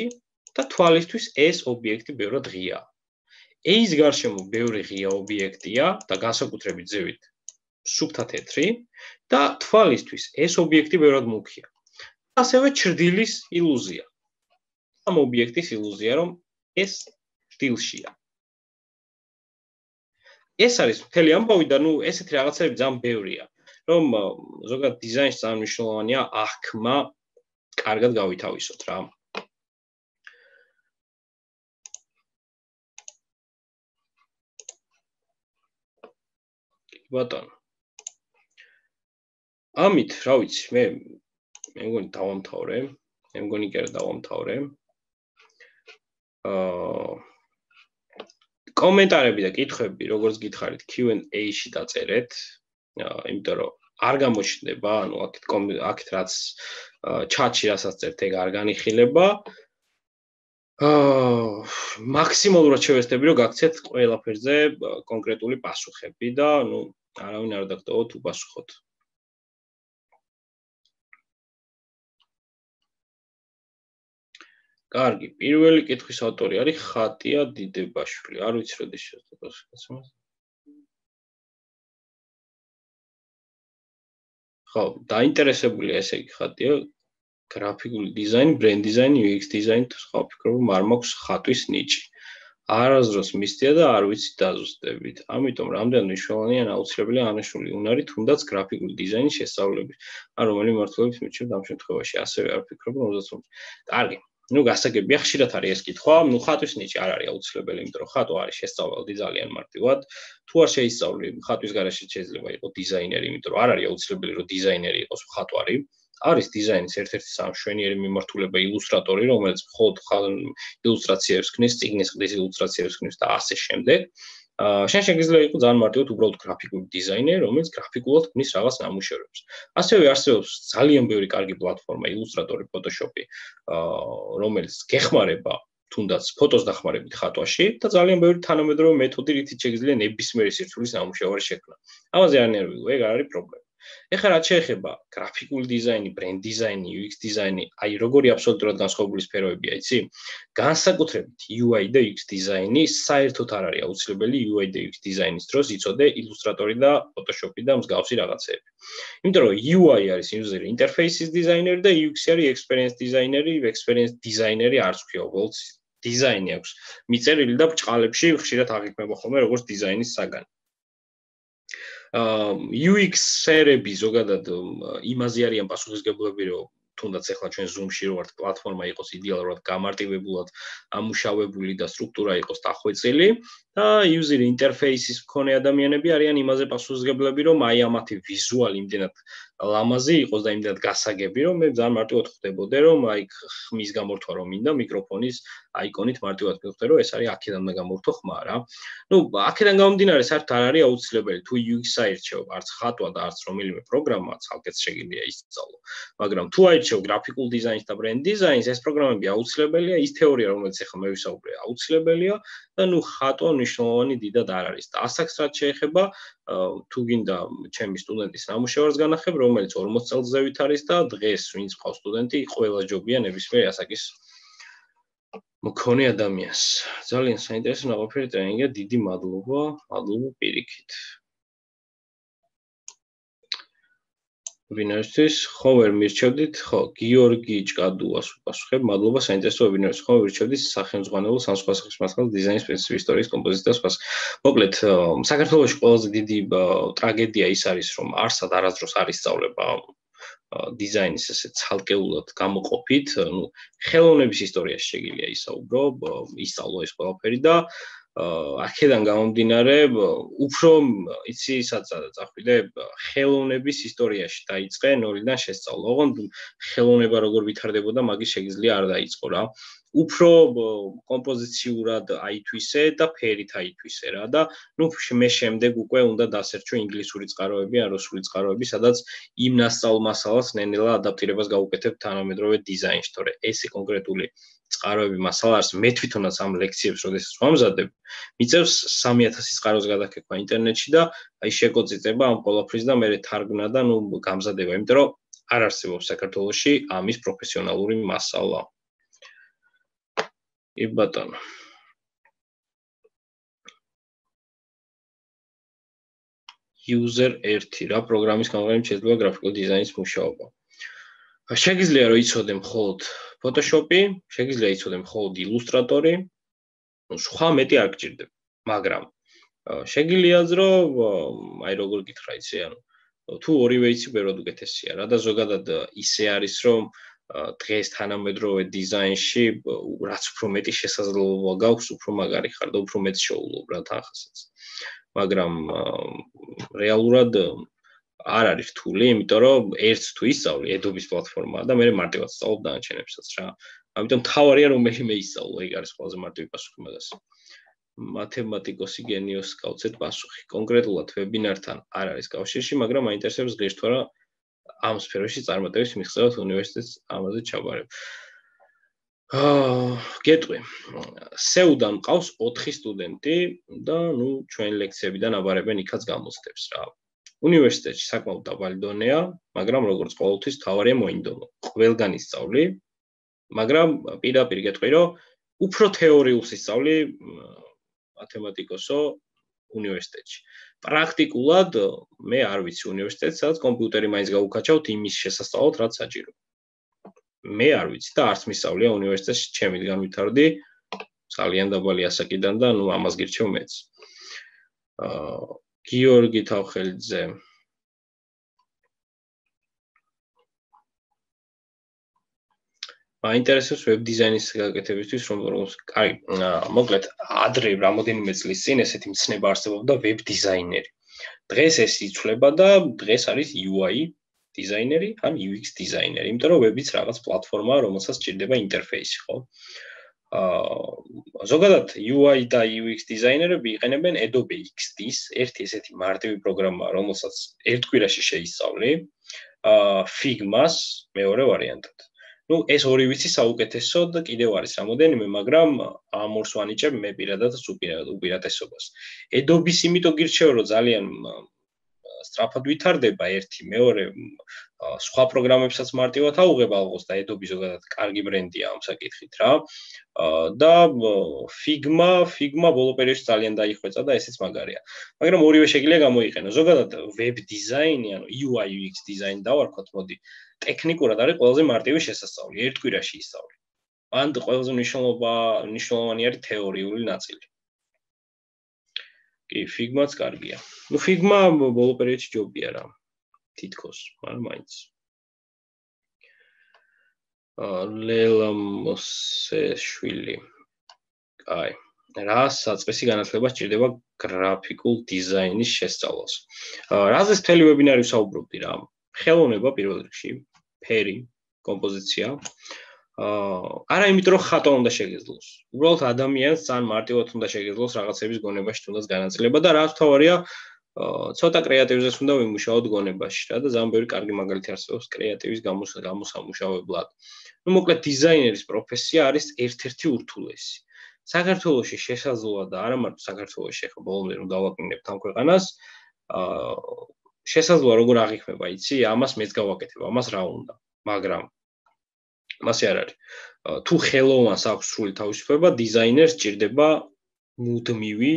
და თვალისთვის ეს ობიექტი ბევრად ღიაა. A-ის გარშემო ბევრი ღია ობიექტია და განსაკუთრებით ზევით სუფთა თეთრი და თვალისთვის ეს ობიექტი ბევრად მუქია. ასევე ჩრდილის ილუზია. ამ ობიექტის ილუზია, რომ ეს ჩრდილშია. ეს არის მთელი ამბავი და ნუ ესეთი რაღაცები ძალიან ბევრია, რომ ზოგადად დიზაინში ძალიან მნიშვნელოვანია აღქმა კარგად გავითავისოთ რა. ბატონო. ამით, რა ვიცი, მე მე მგონი დავამთავრე, მე მგონი კი არა დავამთავრე. აა კომენტარები და კითხვები, როგორც გითხარით, Q and A-ში დაწერეთ, იმიტომ რომ არ გამოჩნდება, ანუ აქეთ აქეთ რაც ჩატში რასაც წერთ, ეგ არ განიხილება. აა მაქსიმალურად შევეცდები, რომ გაქცეთ ყველაფერზე კონკრეტული პასუხები და ნუ არავინ არ დაგტოვოთ უპასუხოთ. კარგი, პირველი კითხვის ავტორი არის ხატია დიდებაშვილი. არ ვიცი როდის შეხვდებით. ხო, დაინტერესებულია ესე იგი ხატია გრაფიკული დიზაინი, ბრენდ დიზაინი, U X დიზაინი, სხვა ვფიქრობ, რომ არ მაქვს ხატვის ნიჭი. არასდროს მისდია და არ ვიცი დაზუსტებით. ამიტომ რამდენად მნიშვნელოვანია აუცილებელია აღნიშნული უნარი, თუნდაც გრაფიკული დიზაინის შესწავლების, ან რომელი მმართველობის მიჩნევთ ამ შემთხვევაში. ასევე არ ვფიქრობ, რომ ოცდაათი. კარგი. ნუ გასაგებია, ხშირად არის ეს კითხვა, ნუ ხატვის ნიჭი არ არის აუცილებელი, იმიტომ რომ ხატვა არის შესწავლადი ძალიან მარტივად. თუ არ შეისწავლი, ხატვის garaშე შეიძლება იყოს დიზაინერი, იმიტომ რომ არ არის აუცილებელი, რომ დიზაინერი იყოს ხატვარი. არის დიზაინის ერთ-ერთი სამშვენიერი მიმართულება ილუსტრატორი, რომელიც მხოლოდ ილუსტრაციებს ქნის, წიგნის ყდის ილუსტრაციებს ქნის და ასე შემდეგ. შენ შეგიძლია იყოს ძალიან მარტივად უბრალოდ გრაფიკული დიზაინერი, რომელიც გრაფიკულად ქნის რაღაც ნამუშევრებს. ასევე არსებობს ძალიან ბევრი კარგი პლატფორმა ილუსტრატორი, Photoshop-ი, რომელიც გეხმარება თუნდაც ფოტოს დახმარებით ხატვაში და ძალიან ბევრი თანამედროვე მეთოდი, რითიც შეგიძლია ნებისმიერი სირცულის ნამუშევარი შექმნა. ამაზე არ ნერვიულო, ეგ არ არის პრობლემა. ეხლა რაც შეეხება გრაფიკული დიზაინი, ბრენდ დიზაინი, იუ ექს დიზაინი, აი როგორი აბსოლუტურად განსხვავებული სფეროებია, იცი? განსაკუთრებით იუ აი და იუ ექს დიზაინი საერთოდ არ არის აუცილებელი იუ აი და იუ ექს დიზაინის დროს იცოდე ილუსტრატორი და ფოტოშოპი და მსგავსი რაღაცეები. იმიტომ რომ იუ აი არის user interface-ის დიზაინერი და იუ ექს არის experience დიზაინერი, experience დიზაინერი არც ქვია, უბრალოდ დიზაინი აქვს მიწერილი და ბრჭყალებში ხშირად აღიქმება ხოლმე როგორც დიზაინის საგანი. იუ ექს-ერები ზოგადად იმაზე არიან პასუხისმგებლები, რომ თუნდაც ახლა ჩვენ Zoom-ში რო ვართ, პლატფორმა იყოს იდეალურად გამარტივებულად ამუშავებული და სტრუქტურა იყოს დახვეწილი და user interface-ის მქონე ადამიანები არიან იმაზე პასუხისმგებლები, რომ აი ამათი ვიზუალი იმდენად ლამაზი იყოს და იმდენად გასაგები, რომ მე ძალიან მარტივად ხვდებოდე, რომ აი ხმის გამორთვა რომ მინდა მიკროფონის აიკონით მარტივად მივხვდე, რომ ეს არის აქედან უნდა გამორთო ხმა რა. ნუ აქედან გამომდინარე საერთოდ არ არის აუცილებელი თუ იუ ექს აირჩევ, არც ხატვა და არც რომელიმე პროგრამა, ცალკეც შეგიძლია ისწავლო. მაგრამ თუ აირჩევ გრაფიკულ დიზაინს და ბრენდ დიზაინს, ეს პროგრამები აუცილებელია, ის თეორია, რომელიც ახლა მე ვისაუბრე, აუცილებელია და ნუ ხატვა მნიშვნელოვანი დიდად არ არის. და ასაკს რაც შეეხება, თუ გინდა ჩემი სტუდენტის ნამუშევარს განახებ, რომელიც ორმოც წელსზევით არის და დღეს ვინც ყავს სტუდენტი, ყველა ჯობია ნებისმიერ ასაკის მქონე ადამიანს. ძალიან საინტერესო ნაყოფიერი ტრენინგია, დიდი მადლობა, მადლობა პირიქით. ვინაისთვის ხომ ვერ მირჩევდით, ხო, გიორგი ჭკადუას უპასუხებ, მადლობა საინტერესო ვებინარს, ხომ ვერ მირჩევდით სახელმძღვანელო სამსხვა სახის მასალას დიზაინის პრინციპი, ისტორიის კომპოზიცია და სხვა. მოკლედ, საქართველოში ყველაზე დიდი ტრაგედია ის არის, რომ არსად არასდროს არ ისწავლება დიზაინის ესე ცალკეულად გამოყოფით, ნუ ხელოვნების ისტორიაში შეგიძლია ისაუბრო, ისწავლო ეს ყველაფერი და აქედან გამომდინარე, უფრო იცი საწადა წახვიდე ხელოვნების ისტორიაში დაიწყე ნოლიდან შესწავლა. ოღონდ ხელოვნება როგორ ვითარდებოდა, მაგის შეგიძლია არ დაიწყო რა. უფრო კომპოზიციურად აითვისე და ფერით აითვისე რა და ნუ მე შემდეგ უკვე უნდა დასერჩო ინგლისური წყაროები, ან რუსული წყაროები, სადაც იმ ნასწავლ მასალას ნენელა ადაპტირებას გავუკეთებ თანამედროვე დიზაინში, თორე ესე კონკრეტული წყაროები მასალა არის. მე თვითონაც ამ ლექციებს როდესაც ვამზადებ, მიწევს სამი ათასი წყაროს გადაკეთება ინტერნეტში და აი შეკოწიწება ამ ყველაფრის და მე თარგმნა და ნუ გამზადება, იმიტომ რომ არ არსებობს საქართველოში ამის პროფესიონალური მასალა. კი ბატონო. user ერთი რა პროგრამის გამოყენებით შეიძლება გრაფიკულ დიზაინის მუშაობა. შეგიძლია რომ იცოდე მხოლოდ Photoshop-ი, შეგიძლია იცოდე მხოლოდ Illustrator-ი, ნუ სხვა მეტი არ გჭირდება, მაგრამ შეგიძლიათ რომ აი როგორ გითხრა იცი, ანუ თუ ორივე იცი ბევრად უკეთესია რა და ზოგადად ისე არის რომ დღეს თანამედროვე დიზაინში რაც უფრო მეტი შესაძლებლობა გაქვს, უფრო მაგარი ხარ და უფრო მეტ შეულობ რა თანხასაც. მაგრამ რეალურად არ არის რთული, იმიტომ რომ ერთს თუ ისწავლი Adobe-ის პლატფორმაა და მე მარტივად სწავლობ დანარჩენებსაც რა. ამიტომ თავარია რომ მე მე ისწავლო, ეგ არის ყველაზე მარტივი პასუხი მაგას. მათემატიკოსი გენიოსს გავცეთ პასუხი. კონკრეტულად ვებინართან არ არის კავშირში, მაგრამ მაინტერესებს ღირს თუ არა ამ სფეროში წარმატების მიღწევად უნივერსიტეტს ამაზე ჩაბარებ. აა, გეტყვი. სეუდან მყავს ოთხი სტუდენტი და ნუ ჩვენ ლექციებიდან აბარებენ იქაც გამოცდებს რა. უნივერსიტეტში საკმაოდ დაბალი დონეა, მაგრამ როგორც ყოველთვის თავარია მოინდომო. ყველგან ისწავლი, მაგრამ პირდაპირ გეტყვი, რომ უფრო თეორიულს ისწავლი მათემატიკოსო უნივერსიტეტში. პრაქტიკულად მე არ ვიცი უნივერსიტეტს, სადაც კომპიუტერი მაინც გავუკაჩავთ იმის შესასწავლად, რაც საჭირო. მე არ ვიცი და არც მისწავლია უნივერსიტეტში, ჩემიდან ვითარდი ძალიან დაბალი ასაკიდან და ნუ ამას გირჩევ მეც. აა გიორგი თავხელიძე მაინტერესებს ვებ დიზაინის გაკეთებისთვის რომ კაი, მოკლედ ადრე რამოდენიმე წლის წინ ესეთი მცნება არსებობდა ვებ დიზაინერი. დღეს ეს იცვლება და დღეს არის იუ აი დიზაინერი ან იუ ექს დიზაინერი, იმიტომ რომ ვებიც რაღაც პლატფორმაა, რომელსაც სჭირდება ინტერფეისი, ხო? აა ზოგადად იუ აი და იუ ექს დიზაინერები იყენებენ Adobe ექს დი-ს, ერთი ესეთი მარტივი პროგრამაა, რომელსაც ერთ კვირაში შეისწავლი, აა Figma-ს მეორე ვარიანტად. ნუ ეს ორი ვიცი საუკეთესო და კიდევ არის რამოდენიმე, მაგრამ ამ ორს ვანიჭებ მე პირადად უპირატესობას. Adobe-ს იმიტომ გირჩევ, რომ ძალიან სწრაფად ვითარდება ერთი, მეორე სხვა პროგრამებსაც მარტივად აუღებ ალბათ და Adobe ზოგადად კარგი ბრენდია ამ საკითხით რა. და Figma, Figma ბოლო პერიოდში ძალიან დაიხვეწა და ესეც მაგარია. მაგრამ ორივე შეგიძლია გამოიყენო. ზოგადად web design-ი, ანუ U I U X design დავარქვათ, მოდი, ტექნიკურად არის ყველაზე მარტივი შესასწავლი, ერთ კვირაში ისწავლი. ან ყველაზე მნიშვნელობა, მნიშვნელოვანი არის თეორიული ნაწილი. კი, Figma-ც კარგია. ნუ Figma ბოლო პერიოდში ჯობია რა. თითქოს, მაგრამ მაინც. ლელა მოსეშვილი. აი, რა საწყისი განათლება სჭირდება გრაფიკულ დიზაინის შესწავლას. რაზეც მთელი ვებინარი ვსაუბრობდი რა. ხელოვნება პირველ რიგში, ფერი, კომპოზიცია. არა იმიტომ რომ ხატვა უნდა შეგეძლოს. უბრალოდ ადამიანს ძალიან მარტივად უნდა შეგეძლოს რაღაცების გონებაში თუნდაც განაწილება და რაც თავარია ცოტა კრეატივზეც უნდა ვიმუშაოთ გონებაში რა და ძალიან ბევრი კარგი მაგალითი არსებობს კრეატივის გამოსამუშავებლად. ნუ მოკლედ დიზაინერის პროფესია არის ერთ-ერთი ურთულესი. საქართველოში შესაძლოა და არა მარტო საქართველოში, ახლა ბოლომდე რომ დავაკინებთ ამ ქვეყანას, შესაძლოა როგორ აღიქმება, იცი, ამას მეც გავაკეთებ, ამას რა უნდა, მაგრამ მასე არ არის. თუ ხელოვანს აქვს სრული თავისუფლება, დიზაინერს სჭირდება მუდმივი,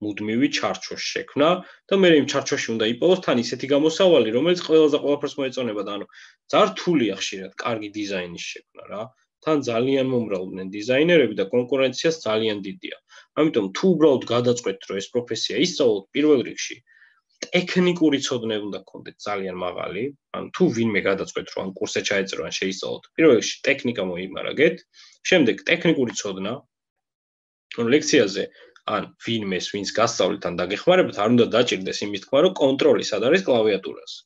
მუდმივი ჩარჩოს შექმნა და მე იმ ჩარჩოში უნდა იპოვოს თან ისეთი გამოსავალი, რომელიც ყველაზე ყველაფერს მოეწონება და ანუ ძალიან რთულია ხშირად კარგი დიზაინის შექმნა რა. თან ძალიან მომრავლდნენ დიზაინერები და კონკურენციაც ძალიან დიდია. ამიტომ თუ უბრალოდ გადაწყვეტთ, რომ ეს პროფესია ისწავლოთ პირველ რიგში, ტექნიკური ცოდნები უნდა გქონდეთ ძალიან მაღალი, ან თუ ვინმე გადაწყვეტ, რომ ამ კურსზე ჩაეწერო ან შეისწავლოთ, პირველ რიგში ტექნიკა მოიმარაგეთ, შემდეგ ტექნიკური ცოდნა, ანუ ლექციაზე ან ვინმეს, ვინც გასწავლეთ ან დაგეხმარებათ, არ უნდა დაჭირდეს იმის თქმა, რომ კონტროლი სად არის კლავიატურაზე.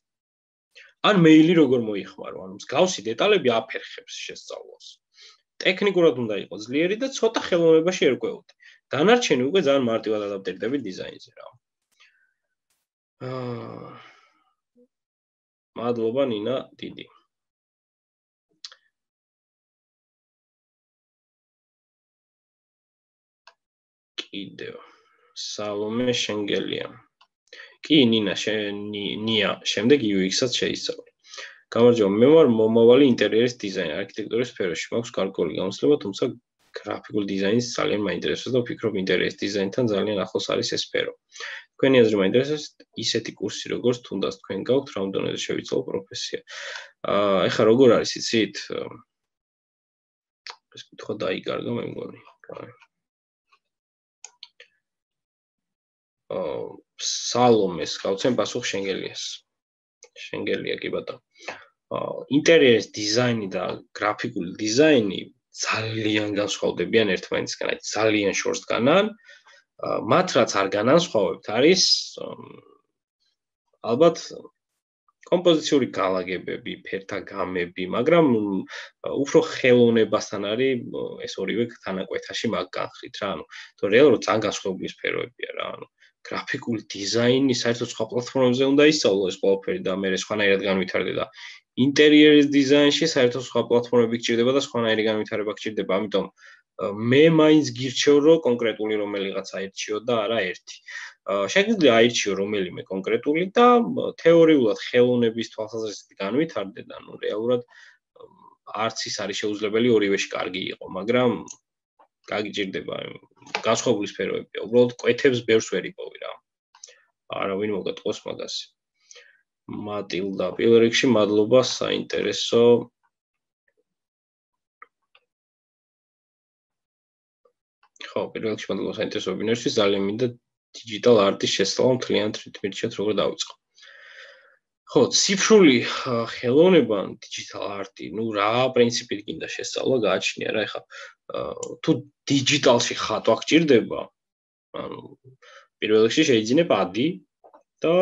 ან მეილი როგორ მოიხმარო, ანუ მსგავსი დეტალები აფერხებს შესწავლას. ტექნიკურად უნდა იყოს ძლიერი და ცოტა ხელოვნებაში ერკვეოდე. დანარჩენი უკვე ძალიან მარტივად ადაპტირდები დიზაინზე რა. აა მადლობა ნინა დიდი. კიდევ სალომე შენგელია. კი ნინა ნია, შემდეგ U X-საც შეისწავლე. გამარჯობა, მე ვარ მომავალი ინტერიერის დიზაინერი არქიტექტურის სფეროში. მაქვს გარკვეული გამოცდილება, თუმცა გრაფიკულ დიზაინს ძალიან მაინტერესებს და ვფიქრობ ინტერიერის დიზაინთან ძალიან ახლოს არის ეს სფერო. თქვენი აზრი მაინტერესებს ისეთი კურსი როგორც თუნდაც თქვენ გაქვთ, რა დონეზე შევიცვალო პროფესია. აა ეხლა როგორ არის იცით? ეს კითხვა დაიკარგა მე მგონი. აა სალომეს გავცემ პასუხ შენგელიას. შენგელია კი ბატონო. ინტერიერის დიზაინი და გრაფიკული დიზაინი ძალიან განსხვავდებიან ერთმანეთისგან, აი ძალიან შორს განან. მათ რაც არ განასხვავებთ არის ალბათ კომპოზიციური განლაგებები, ფერთა გამები, მაგრამ უფრო ხელოვნებასთან არის ეს ორივე თანაკვეთაში მაგ განხრით რა, ანუ თუ რეალურად ძალიან განსხვავებული სფეროებია რა, ანუ გრაფიკული დიზაინი საერთოდ სხვა პლატფორმებზე უნდა ისწავლო ეს ყველაფერი და მე სხვანაირად განვითარდე და ინტერიერის დიზაინში საერთოდ სხვა პლატფორმები გჭირდება და სხვანაირი განვითარება გჭირდება, ამიტომ მე მაინც გირჩევ რომ კონკრეტული რომელიღაც აირჩიო და არა ერთი. შეგვიძლია აირჩიო რომელიმე კონკრეტული და თეორიულად ხელოვნების თვალსაზრისით განვითარდე და ნუ რეალურად არც ის არის შეუძლებელი ორივეში კარგი იყო, მაგრამ გაგიჭირდება განსხვავებული სფეროებია. უბრალოდ კვეთებს ბევრს ვერ იპოვი რა. არავინ მოგატყოს მაგას. მატილდა, პირველ რიგში მადლობა საინტერესო ხო, პირველ რიგში მადლობა საინტერესო ვებინარისთვის, ძალიან მინდა digital art-ის შესწავლა მთლიანად რითმეტად როგორ დავიწყო. ხო, ციფრული ხელოვნება, digital art-ი, ნუ რა პრინციპით გინდა შესწავლა, გააჩნია რა, ეხლა თუ digital-ში ხატვა გჭირდება, ანუ პირველ რიგში შეიძლება ადი და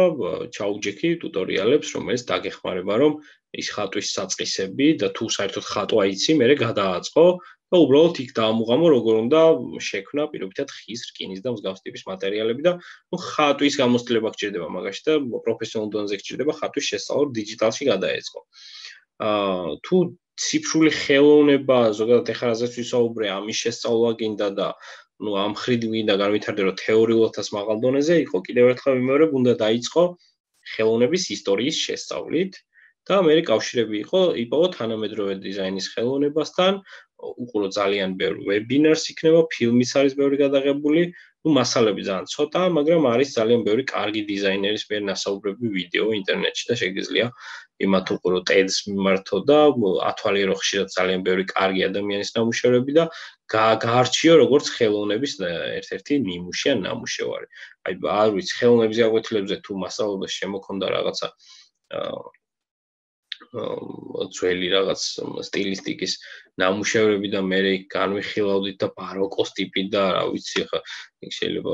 ჩაუჯექი ტუტორიალებს, რომელიც დაგეხმარება, რომ ის ხატვის საწყისები და თუ საერთოდ ხატვა იცი, მერე გადააწყო და უბრალოდ იქ დაამუღამო, როგორ უნდა შექმნა პირობითად ხის, რკინის და მსგავს ტიპის მატერიალები და ნუ ხატვის გამოცდილება გჭირდება მაგაში და პროფესიონალურ დონეზე გჭირდება ხატვის შესწავლა დიჯიტალში გადაეწყო. აა თუ ციფრული ხელოვნება, ზოგადად ეხლა რაზეც ვისაუბრე, ამის შესწავლა გინდა და ნუ ამ ხრით გინდა განვითარდე, რომ თეორიულადაც მაღალ დონეზე იყო, კიდევ ერთხელ ვიმეორებ, უნდა დაიწყო ხელოვნების ისტორიის შესწავლით და მე კავშირები იყო იპოვო თანამედროვე დიზაინის ხელოვნებასთან, უყურო ძალიან ბევრი ვებინარს იქნება, ფილმიც არის ბევრი გადაღებული, ну მასალები ძალიან ცოტაა, მაგრამ არის ძალიან ბევრი კარგი დიზაინერის მიერ ნასაუბრები ვიდეო ინტერნეტში და შეგიძლია იმათ უყურო TED-ს მიმართო და ათვალიერო ხშირად ძალიან ბევრი კარგი ადამიანის ნამუშევრები და გაარჩიო როგორც ხელოვნების ერთ-ერთი ნიმუში ან ნამუშევარი. აი არ ვიცი, ხელოვნების გაკვეთილებზე თუ მასალაში შემოქონდა რაღაცა ძველი რაღაც სტილისტიკის ნამუშევრები და მე განვიხილავდით და ბაროკოს ტიპი და რა ვიცი ხა შეიძლება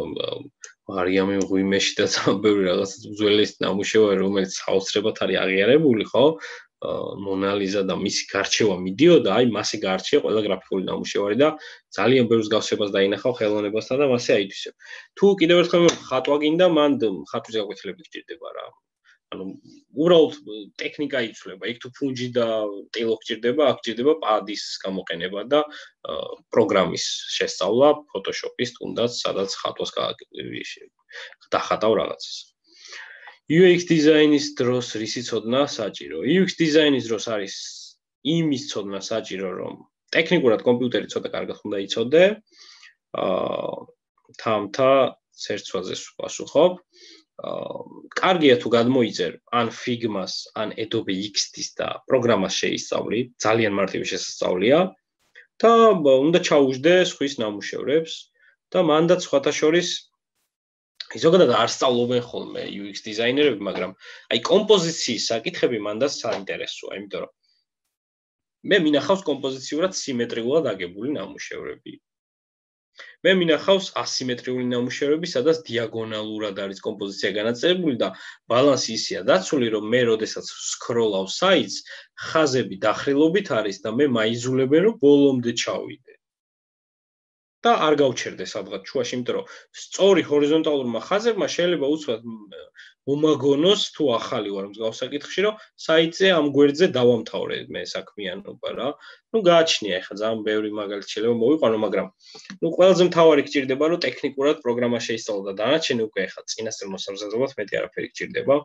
მარიამი მღვიმეში და ძალიან ბევრი რაღაც ძველის ნამუშევარი რომელიც საოცრებად არის აღიარებული ხო მონალიზა და მისი გარჩევა მიდიოდა აი მასე გარჩია ყველა გრაფიკული ნამუშევარი და ძალიან ბევრ მსგავსებას დაინახავ ხელოვნებასთან და მასე აითვისებ თუ კიდევ ერთხელ ხატვა გინდა მან ხატვის გაკვეთილები გჭირდება რა ანუ უბრალოდ ტექნიკა იცვლება. იქ თუ ფუნჯი და ტილო გჭირდება, აქ გჭირდება პადის გამოყენება და პროგრამის შესწავლა, Photoshop-ის თუნდაც, სადაც ხატვას დახატავ რაღაცას. U X დიზაინის დროს რისი ცოდნა საჭირო? U X დიზაინის დროს არის იმის ცოდნა საჭირო, რომ ტექნიკურად კომპიუტერი ცოტა კარგად უნდა იცოდე. აა თამთა ცერცვაზე ვпасუხობ. კარგია თუ გადმოიწერ ან Figma-ს, ან Adobe X D-ს და პროგრამას შეისწავლი, ძალიან მარტივი შესწავლია და უნდა ჩაუждე სხვის ნამუშევრებს და მანდაც სხვათა შორის ზოგადად არ სწავლობენ ხოლმე U X დიზაინერები, მაგრამ აი კომპოზიციის საკითხები მანდაც საინტერესოა, იმიტომ რომ მე მინახავს კომპოზიციურად სიმეტრიულად აგებული ნამუშევრები. მე მინახავს ასიმეტრიული ნამუშევრები, სადაც დიაგონალურად არის კომპოზიცია განაწილებული და ბალანსი ისეა დაცული, რომ მე როდესაც სკროლავ საიტს, ხაზები დახრილობით არის და მე მაიზულებენ, რომ ბოლომდე ჩავიდე. და არ გავჩერდე სადღაც შუაში, იმიტომ რომ სწორი ჰორიზონტალურმა ხაზებმა შეიძლება უცბად მომაგონოს თუ ახალი ვარ მსგავს საკითხში, რომ საიტზე ამ გვერდზე დავამთავრე მე საქმიანობა რა. ну გააჩნია ეხლა ძალიან ბევრი მაგალითი შეიძლება მოვიყვანო, მაგრამ ну ყველაზე მთავარი გჭირდება, რომ ტექნიკურად პროგრამა შეისწავლო და დანარჩენი უკვე ეხლა წინასწარ მოსამზადებლად მეტი არაფერი გჭირდება.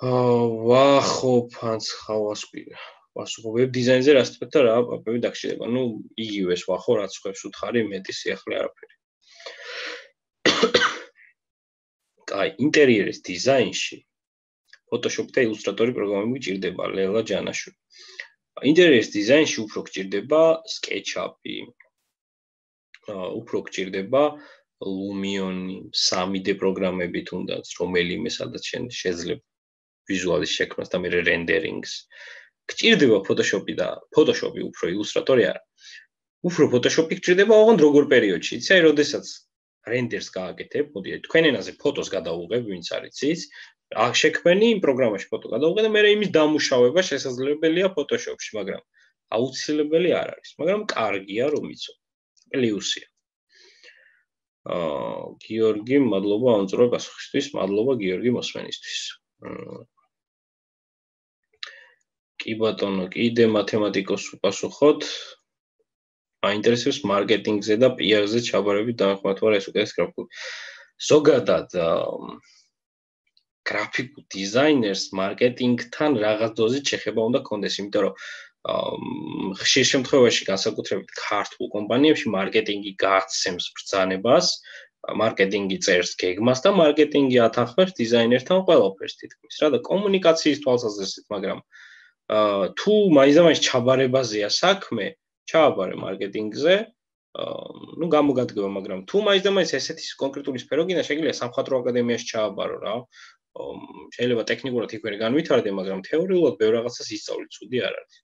აა ვახობ ანც ხავასკვირა. ვასუხობ ვებ დიზაინზე რას თქვით და რა პაპები დაგჭირდება. ну იგივეს ვახო, რაც ხვევს უთხარი მეტი სიახლე არაფერი. აი ინტერიერის დიზაინში Photoshop და Illustrator პროგრამები გჭირდება, ლელა ჯანაშვილი. ინტერიერის დიზაინში უფრო გჭირდება SketchUp-ი. უფრო გჭირდება Lumion-ი, სამი დე პროგრამები თუნდაც, რომელიმე სადაც შეიძლება ვიზუალის შექმნას და მე რენდერინგს. გჭირდება Photoshop-ი და Photoshop-ი უფრო Illustrator-ი არა. უფრო Photoshop-ი გჭირდება ოღონდ როგორ პერიოდში, იცი, აი როდესაც რენდერს გააკეთებ, მოდი თქვენ ენაზე ფოტოს გადავუღებ, ვინც არის იცი, აქ შექმენი იმ პროგრამაში ფოტო გადავუღე და მე იმის დამუშავება შესაძლებელია Photoshop-ში, მაგრამ აუცილებელი არ არის, მაგრამ კარგია რომ იცო. პლუსია. აა გიორგი, მადლობა ამწურო პასუხისთვის, მადლობა გიორგი მოსმენისთვის. კი ბატონო, კიდე მათემატიკოს უპასუხოთ. აინტერესებს მარკეტინგზე და პი არ-ზე ჩაბარებით დაახმართ ვარ ეს უკეთეს გრაფიკულ. ზოგადად გრაფიკულ დიზაინერს მარკეტინგთან რაღაც დოზით შეხება უნდა კონდეს, იმიტომ რომ ხშირ შემთხვევაში განსაკუთრებით ქართულ კომპანიებში მარკეტინგი გააცემს ბრძანებას, მარკეტინგი წერს გეგმას და მარკეტინგი ათანხმებს დიზაინერთან ყველაფერს თითქმის რა და კომუნიკაციის თვალსაზრისით, მაგრამ თუ მაინც ჩაბარებაზეა საქმე, ჩააბარე მარკეტინგზე, ну გამოგადგება, მაგრამ თუ მაინც და მაინც ესეთი კონკრეტული სფერო გინდა, შეგიძლია სამხატვრო აკადემიაში ჩააბარო რა. შეიძლება ტექნიკურად იქ ვერ განვითარდე, მაგრამ თეორიულად ბევრ რაღაცას ისწავლი, ცუდი არ არის.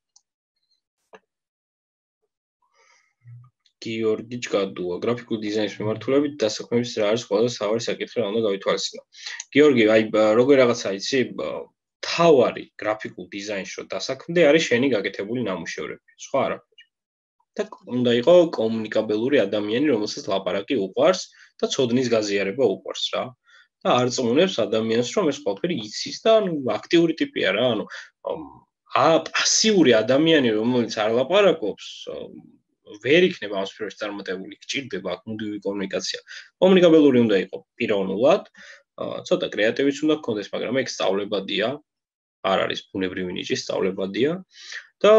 გიორგი ჭკადუა, გრაფიკულ დიზაინის მიმართულებით დასაქმების რა არის ყველაზე სავარი საკითხი, რა უნდა გავითვალისწინო. გიორგი, აი როგორ რაღაცა იცი, თავარი გრაფიკულ დიზაინში რო დასაქმდე არის შენი გაკეთებული ნამუშევრები, სხვა არაფერი. და უნდა იყო კომუნიკაბელური ადამიანი, რომელსაც ლაპარაკი უყვარს და ცოდნის გაზიარება უყვარს რა. და არ წმუნებს ადამიანს, რომ ეს ყველაფერი იცის და ანუ აქტიური ტიპია რა, ანუ ა პასიური ადამიანი, რომელიც არ ლაპარაკობს, ვერ იქნება ამ სფეროში წარმატებული, გჭირდება აქ მუდმივი კომუნიკაცია. კომუნიკაბელური უნდა იყო პიროვნულად, ცოტა კრეატივიც უნდა გქონდეს, მაგრამ ეგ სწავლებადია, არ არის ბუნებრივი ნიჭი, სწავლებადია და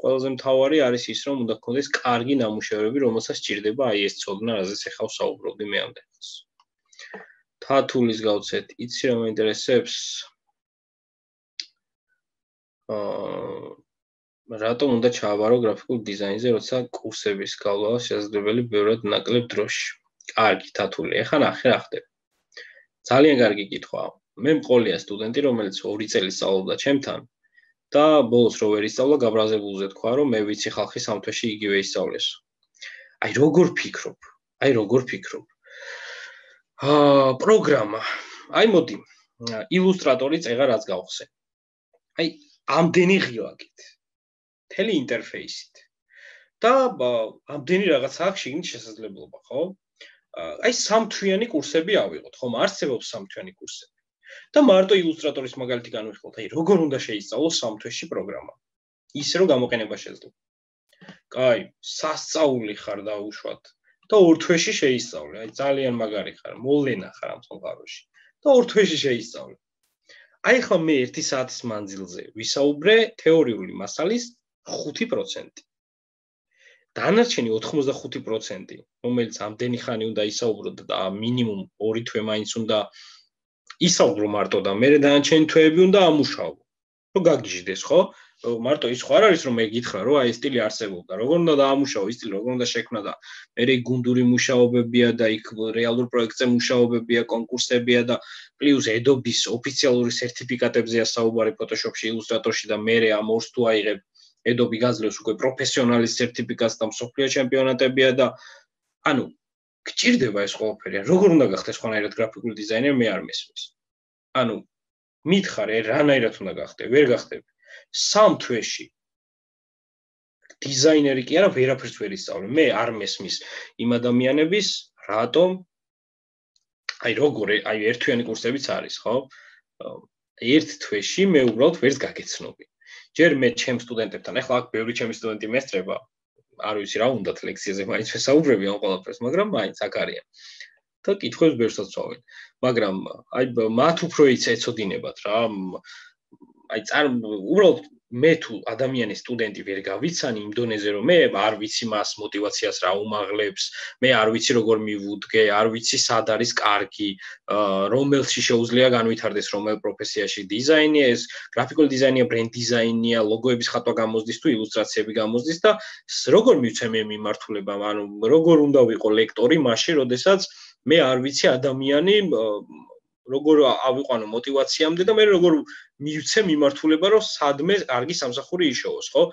ყველაზე მთავარი არის ის, რომ უნდა გქონდეს კარგი ნამუშევრები, რომელსაც სჭირდება აი ეს ცოდნა, რაზეც ახლა ვსაუბრობდი მე ამდენ ხანს. თათულის გავცეთ, იცი რა მაინტერესებს? აა რატომ უნდა ჩააბარო გრაფიკულ დიზაინზე, როცა კურსების გავლა შესაძლებელი ბევრად ნაკლებ დროში? კარგი, თათული, ახლა ნახე რა ხდება. ძალიან კარგი კითხვაა. მე მყოლია სტუდენტი, რომელიც ორი წელი სწავლობდა ჩემთან და ბოლოს რო ვერ ისწავლა, გაბრაზებულზე თქვა, რომ მე ვიცი ხალხი სამ თვეში იგივე ისწავლეს. აი როგორ ფიქრობ? აი როგორ ფიქრობ? აა პროგრამა. აი მოდი, ილუსტრატორი წეღა რაც გავხსე. აი ამდენი ღილაკით. მთელი ინტერფეისით. და ამდენი რაღაცა აქვს შიგნით შესაძლებლობა, ხო? აი სამთვიანი კურსები ავიღოთ, ხომ არსებობს სამთვიანი კურსები. და მარტო ილუსტრატორის მაგალითი განვიხილოთ, აი როგორ უნდა შეისწავლოს სამ თვეში პროგრამა. ისე რომ გამოყენება შეძლო. კაი, სასწაული ხარ დაუშვათ და ორ თვეში შეისწავლე. აი ძალიან მაგარი ხარ, მოვლენა ხარ ამ სამყაროში. და ორ თვეში შეისწავლე. აი ხა მე ერთი საათის მანძილზე ვისაუბრე თეორიული მასალის ხუთი პროცენტი. დანარჩენი ოთხმოცდახუთი პროცენტი, რომელიც ამდენი ხანი უნდა ისაუბრო და მინიმუმ ორი თვე მაინც უნდა ისაუბრო მარტო და მე დანარჩენი თვეები უნდა ამუშავო. რომ გაგიჟდეს, ხო? მარტო ის ხო არ არის რომ მე გითხრა რომ აი სტილი არსებობდა, როგორ უნდა დაამუშავო ის სტილი, როგორ უნდა შექმნა და მე გუნდური მუშაობებია და იქ რეალურ პროექტზე მუშაობებია, კონკურსებია და პლუს Adobe-ის ოფიციალური სერტიფიკატებზეა საუბარი Photoshop-ში, Illustrator-ში და მე ამ ორს თუ აიღებ Adobe გაძლევს უკვე პროფესიონალის სერტიფიკატს და მსოფლიო ჩემპიონატებია და ანუ გჭირდება ეს ყველაფერი. როგორ უნდა გახდეს ხანაერად გრაფიკული დიზაინერი მე არ მესმის. ანუ მითხარ რანაირად უნდა გახდე, ვერ გახდები. სამ თვეში დიზაინერი კი არა, ვერაფერს ვერ ისწავლე. მე არ მესმის იმ ადამიანების, რატომ აი როგორ აი ერთთვიანი კურსებიც არის, ხო? ერთ თვეში მე უბრალოდ ვერც გაგეცნობი. ჯერ მე ჩემ სტუდენტებთან, ახლა აქ ბევრი ჩემი სტუდენტი მესწრება, არ ვიცი რა უნდათ ლექციაზე მაინც ვესაუბრები ამ ყველაფერს, მაგრამ მაინც აქ არიან. და კითხვებს ბევრსაც ვცვალენ. მაგრამ აი მათ უფრო იცეცოდინებათ რა. აი წარ უბრალოდ მე თუ ადამიანის სტუდენტი ვერ გავიცანი იმ დონეზე რომ მე არ ვიცი მას мотиваციას რა უმაღლებს, მე არ ვიცი როგორ მივუდგე, არ ვიცი სად არის კარგი, რომელში შეუძლია განვითარდეს რომელ პროფესიაში დიზაინია, ეს გრაფიკული დიზაინია, ბრენდ დიზაინია, ლოგოების ხატვა გამოსდის თუ ილუსტრაციები გამოსდის და როგორ მივცე მე მიმართულება, ანუ როგორ უნდა ვიყო ლექტორი მაშინ, როდესაც მე არ ვიცი ადამიანი როგორ ავიყვანო мотиваციამდე და მე როგორ მივცე მიმართულება რომ სადმე კარგი სამსახური იშოვოს, ხო?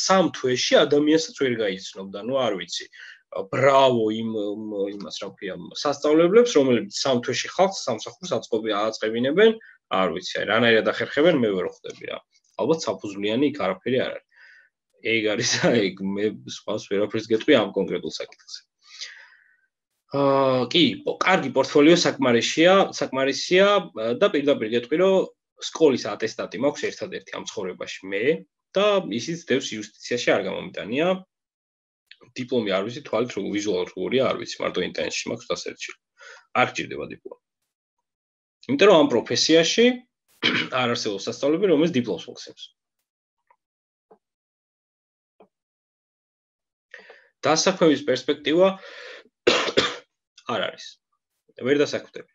სამ თვეში ადამიანსაც ვერ გაიცნობდა, ნუ არ ვიცი. ბრავო იმ იმას რა ქვია, სასწავლებლებს, რომლებიც სამ თვეში ხალხს სამსახურს აწყობი აწყებინებენ, არ ვიცი, აი რანაირად ახერხებენ, მე ვერ ხვდები რა. ალბათ საფუძვლიანი იქ არაფერი არ არის. ეგ არის და ეგ მე სხვას ვერაფერს გეტყვი ამ კონკრეტულ საკითხზე. აა კი, კარგი პორტფოლიო საკმარისია, საკმარისია და პირდაპირ გეტყვი რომ სკოლის ატესტატი მაქვს ერთადერთი ამ ცხოვრებაში მე და ისიც დევს იუსტიციაში არ გამომიტანია. დიპლომი არ ვიცი, თვალით როგორ ვიზუალურად როგორია, არ ვიცი, მარტო ინტერნეტში მაქვს დასერჩილი. არ გჭირდება დიპლომი. იმიტომ რომ ამ პროფესიაში არ არსებობს სასწავლებელი, რომელიც დიპლომს მოგცემს. დასაქმების პერსპექტივა არ არის. ვერ დასაქმდები.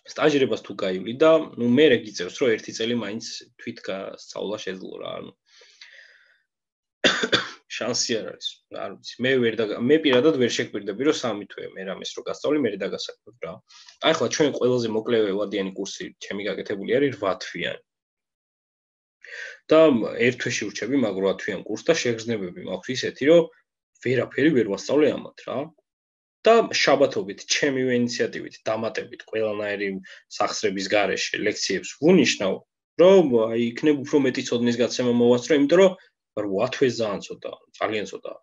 სტაჟირებას თუ გაივლი და ნუ მე რეგიწევს რომ ერთი წელი მაინც თვით გასწავლა შეძლო რა, ანუ შანსი არ არის. არ ვიცი, მე ვერ და მე პირადად ვერ შეგვირდები რომ სამი თვე მე რამეს რო გასწავლი, მე დაგასაქმებ რა. აი ახლა ჩვენ ყველაზე მოკლე ვადიანი კურსი ჩემი გაკეთებული არის რვა თვიანი. და ერთ თვეში ვრჩები მაგ რვა თვიან კურსს და შეგრძნებები მაქვს ისეთი რომ ვერაფერი ვერ ვასწავლე ამათ რა. და შაბათობით ჩემივე ინიციატივით დამატებით ყველანაირი სახსრების გარეშე ლექციებს ვუნიშნავ, რომ აი იქნებ უფრო მეტი ცოდნის გაცემა მოვასწრო, იმიტომ რომ რვა თვე ძალიან ცოტა, ძალიან ცოტა.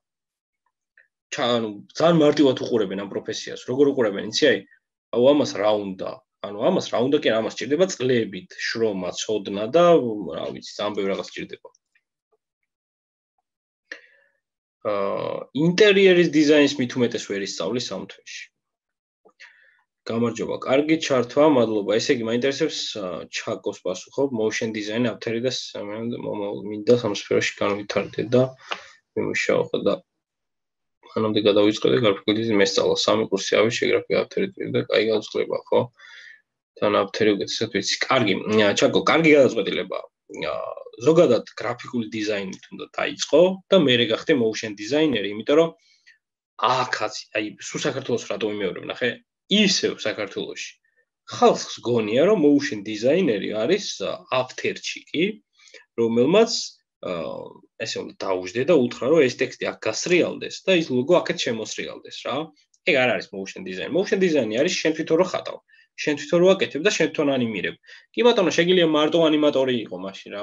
ანუ ძალიან მარტივად უყურებენ ამ პროფესიას. როგორ უყურებენ, იცი აი, აუ ამას რა უნდა? ანუ ამას რა უნდა კი არა, ამას სჭირდება წლებით, შრომა, ცოდნა და რა ვიცი, ძალიან ბევრი რაღაც სჭირდება. აა ინტერიერის დიზაინს მით უმეტეს ვერ ისწავლი სამ თვეში. გამარჯობა, კარგი ჩართვა, მადლობა. ესე იგი, მაინტერესებს ჩაკოს პასუხობ, motion design ავთერი და მინდა სამსფეროში განვითარდე და მიმუშაო და მანამდე გადავიწყდე გრაფიკულ დიზაინს მესწავლა სამი კურსი ავი გრაფიკულ ავთერი და კაი განწყობა, ხო? თან ავთერი უკეთესად ვიცი. კარგი, ჩაკო, კარგი გადაწყვეტილება. ზოგადად გრაფიკული დიზაინი თუნდაც დაიწყო და მე გახდე motion designer-ი, იმიტომ რომ აქაც, აი, სულ საქართველოს რატომ იმეორებ, ნახე? ისევ საქართველოში ხალხს გონია რომ motion designer-ი არის ავთერჩიკი, რომელმაც ესე უნდა დაუждე და უთხრა რომ ეს ტექსტი აქ გასრიალდეს და ის ლოგო აქეთ შემოსრიალდეს რა. ეგ არ არის motion design. motion design-ი არის შენ თვითონ რო ხატავ, შენ თვითონ რო აკეთებ და შენ თვითონ ანიმირებ. კი ბატონო, შეგიძლია მარტო ანიმატორი იყო მაშინ რა.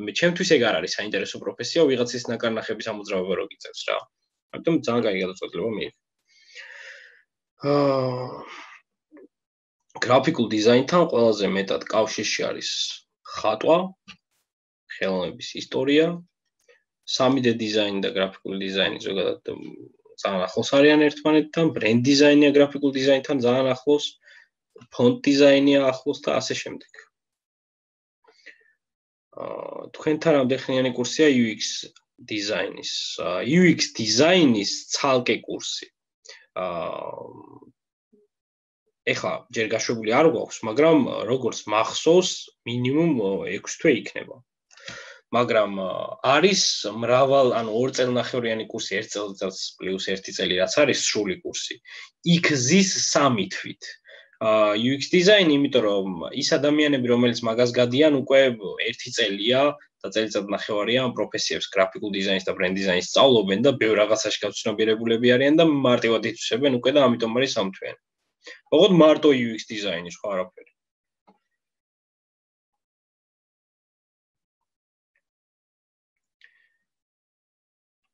მე ჩემთვის ეგ არ არის საინტერესო პროფესია, ვიღაცის ნაკარნახების ამოძრავება რო გიწევს რა. ამიტომ ძალიან კაი გადაწყვეტილება მიიღე. გრაფიკულ დიზაინთან ყველაზე მეტად კავშირში არის ხატვა, ხელოვნების ისტორია, სამი დე დიზაინი და გრაფიკული დიზაინი ზოგადად ძალიან ახლოს არიან ერთმანეთთან, ბრენდ დიზაინია გრაფიკულ დიზაინთან ძალიან ახლოს, ფონტ დიზაინია ახლოს და ასე შემდეგ. თქვენთან რამდენხნიანი კურსია იუ ექს დიზაინის? იუ ექს დიზაინის ცალკე კურსი. ეხლა ჯერ გაშვებული არ გვაქვს, მაგრამ როგორც მახსოვს, მინიმუმ ექვსი თვე იქნება. მაგრამ არის მრავალ, ანუ ორ წელნახევრიანი კურსი, ერთ წელიწადს პლუს ერთი წელი, რაც არის სრული კურსი. იქ ზის სამი თვით. იუ ექს დიზაინი, იმიტომ რომ ის ადამიანები, რომელიც მაგას გადიან, უკვე ერთი წელია და წელიწადნახევარია ამ პროფესიებს, გრაფიკულ დიზაინს და ბრენდ დიზაინს სწავლობენ და ბევრ რაღაცაში გაცნობიერებულები არიან და მარტივად ითვისებენ უკვე და ამიტომ არის სამთვიანი. ოღონდ მარტო იუ ექს დიზაინი, სხვა არაფერი.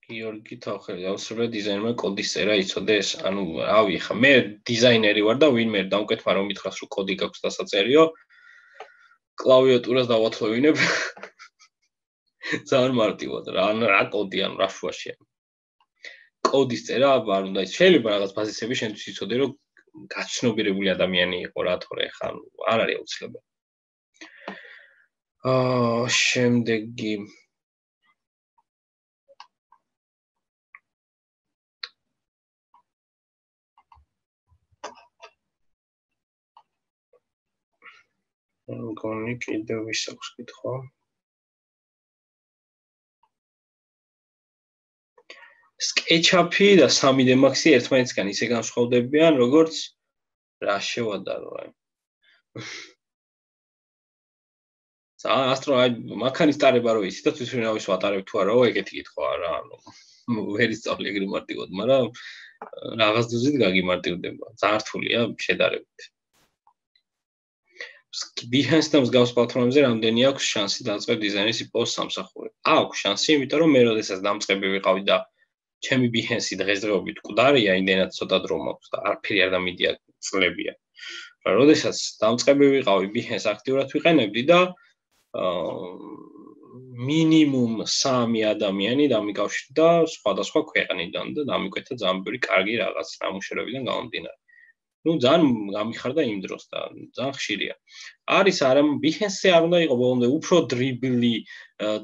გიორგი თავხელი, აუცილებლად დიზაინერმა კოდის წერა იცოდეს. ანუ, რავი, ხა მე დიზაინერი ვარ და ვინმე დამკვეთმა რომ მითხრას რომ კოდი გაქვს დასაწერიო, კლავიატურას დავათხოვინებ. ძალიან მარტივად რა, ან რა კოდი, ან რა შუაშია. კოდის წერა არ უნდა ის. შეიძლება რაღაც ბაზისები შენთვის იცოდე რომ გაცნობიერებული ადამიანი იყო რა, თორე ხა არ არის აუცილებელი. აა, შემდეგი მგონი კიდევ ვის აქვს კითხვა? SketchUp-ი და სამი დე Max-ი ერთმანეთისგან ისე განსხვავდებიან, როგორც რა შევადარო აი. ძალიან ასტრო აი მანქანის ტარება რო იცი და თვითმფრინავის ვატარებ თუ არა, ეგეთი კითხვაა რა, ანუ ვერ ისწავლე ეგრე მარტივად, მაგრამ რაღაც დოზით გაგიმარტივდება. ძალიან რთულია შედარებით. Behance და მსგავს პლატფორმებზე რამდენი აქვს შანსი დაწყებ დიზაინის იპოვოს სამსახური? აქვს შანსი, იმიტომ რომ მე როდესაც დამწყები ვიყავი და ჩემი Behance-ი დღესდღეობით მკვდარია, იმდენად ცოტა დრო მაქვს და არაფერი არ დამიდია წლებია. როდესაც დამწყები ვიყავი, Behance აქტიურად ვიყენებდი და მინიმუმ სამი ადამიანი დამიკავშირდა სხვადასხვა ქვეყნიდან და დამიკვეთა ძალიან ბევრი კარგი რაღაც ნამუშევრებიდან გამომდინარე. Ну, ძალიან გამიხარდა იმ დროს და ძალიან ხშირია. არის არა, Behance-ზე არ უნდა იყოს ბოლომდე უფრო დრიბლი,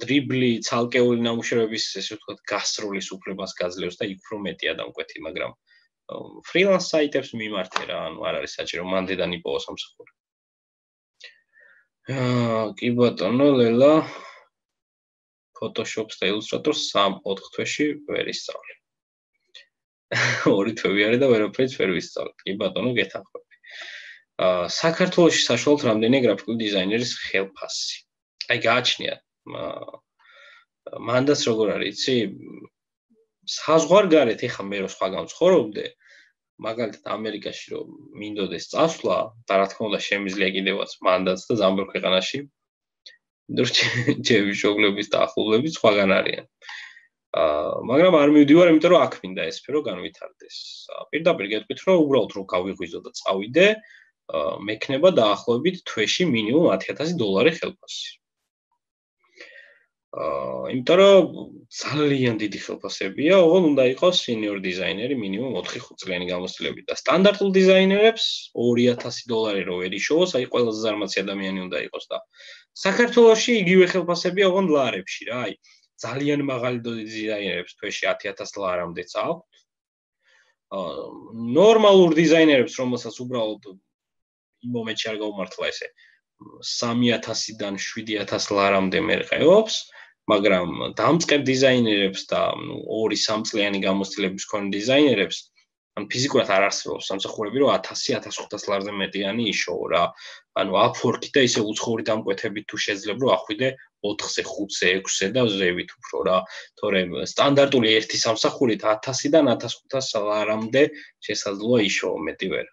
დრიბლი ცალკეული ნამუშევრების, ესე ვთქვათ, გასროლის უფლებას გაძლევს და იქ უფრო მეტია დამკვეთი, მაგრამ freelance საიტებს მიმართე რა, ანუ არ არის საჭირო მანდედან იპოვოს სამსახური. აა, კი ბატონო, ლელა Photoshop-ს და Illustrator-ს სამ-ოთხ თვეში ვერ ისწავლე. ორი თვე ვიარე და ვერაფერიც ვერ ვისწავლე. კი ბატონო, გეთანხმები. აა, საქართველოში საშუალოდ რამდენია გრაფიკული დიზაინერის ხელფასი? აი, გააჩნიათ. მანდაც როგორ არის, იცი? საზღვარგარეთ, ეხა მე რო სხვაგან ვცხოვრობდე, მაგალითად ამერიკაში რომ მინდოდეს წასვლა, და რა თქმა უნდა შემიძლია კიდევაც მანდაც და ძალიან ბევრ ქვეყანაში. ჩემი მშობლების და ახლობლების სხვაგან არიან. აა, მაგრამ არ მივდივარ, იმიტომ რომ აქ მინდა ეს სფერო განვითარდეს. პირდაპირ გეტყვით, რომ უბრალოდ რო გავიღვიძო და წავიდე, მექნება დაახლოებით თვეში მინიმუმ ათი ათასი დოლარი ხელფასი. აა, იმიტომ რომ ძალიან დიდი ხელფასებია, ოღონდ უნდა იყოს senior დიზაინერი მინიმუმ ოთხი ხუთი წლიანი გამოცდილებით და სტანდარტულ დიზაინერებს ორი ათასი დოლარი რო ვერ იშოვოს, აი ყველაზე ზარმაცი ადამიანი უნდა იყოს და საქართველოში იგივე ხელფასებია, ოღონდ ლარებში რა, აი ძალიან მაღალი დიზაინერებს თვეში ათი ათასი ლარამდეც აქვთ. აა, ნორმალურ დიზაინერებს, რომელსაც უბრალოდ იმ მომენტში არ გაუმართლა ესე სამი ათასიდან შვიდი ათასი ლარამდე მერყეობს. მაგრამ დამწყებ დიზაინერებს და ორი სამ წლიანი გამოცდილების მქონე დიზაინერებს ან ფიზიკურად არ არსებობს სამსახურები, რომ ათასი ათას ხუთასი ლარზე მეტიანი იშოვო რა. ანუ Upwork-ი და ისე უცხოური დამკვეთებით თუ შეძლებ რომ ახვიდე ოთხზე, ხუთზე, ექვსზე და ზევით უფრო რა. თორემ სტანდარტული ერთი სამსახურით ათასიდან ათას ხუთასი ლარამდე შესაძლოა იშოვო, მეტი ვერ.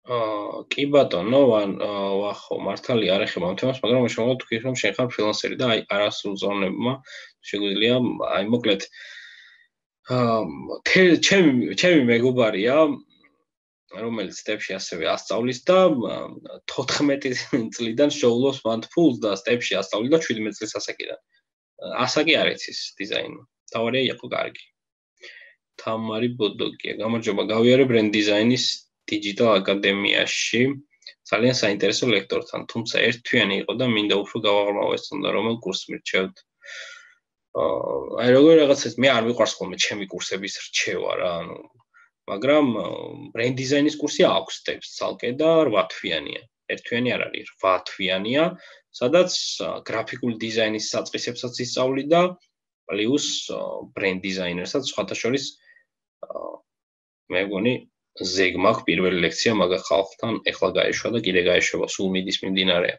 აა, კი ბატონო, ვახო, მართალი არ ეხება ამ თემას, მაგრამ შემოგვა თქვი რომ შენ ხარ ფრილანსერი და აი არასრულ ზონებმა შეგვიძლია, აი მოკლედ აა, ჩემი ჩემი მეგობარია, რომელიც სტეპში ასევე ასწავლის და თოთხმეტი წლიდან შეულობს მან ფულს და სტეპში ასწავლიდა შვიდმეტი წლის ასაკიდან. ასაკი არ იცის დიზაინი. თავარია იყო კარგი. თამარი ბოდოგია, გამარჯობა, გავიარე ბრენდ დიზაინის Digital აკადემიაში ძალიან საინტერესო ლექტორთან, თუმცა ერთთვიანი იყო და მინდა უფრო გავაღრმავოს თუნდა რომელ კურსს მირჩევთ. აა, აი როგორ რაღაცას მე არ მიყვარს ხოლმე ჩემი კურსების რჩევა რა, ანუ მაგრამ ბრენდ დიზაინის კურსი აქვს სტეპს ცალკე და რვა თვიანია. ერთთვიანი არ არის, რვა თვიანია, სადაც გრაფიკული დიზაინის საწყისებსაც ისწავლი და პლუს ბრენდ დიზაინერსაც სხვათა შორის მე მგონი ზეგ მაქვს პირველი ლექცია მაგა ხალხთან, ეხლა გაეშვა და კიდე გაეშვება, სულ მიდის მიმდინარეა.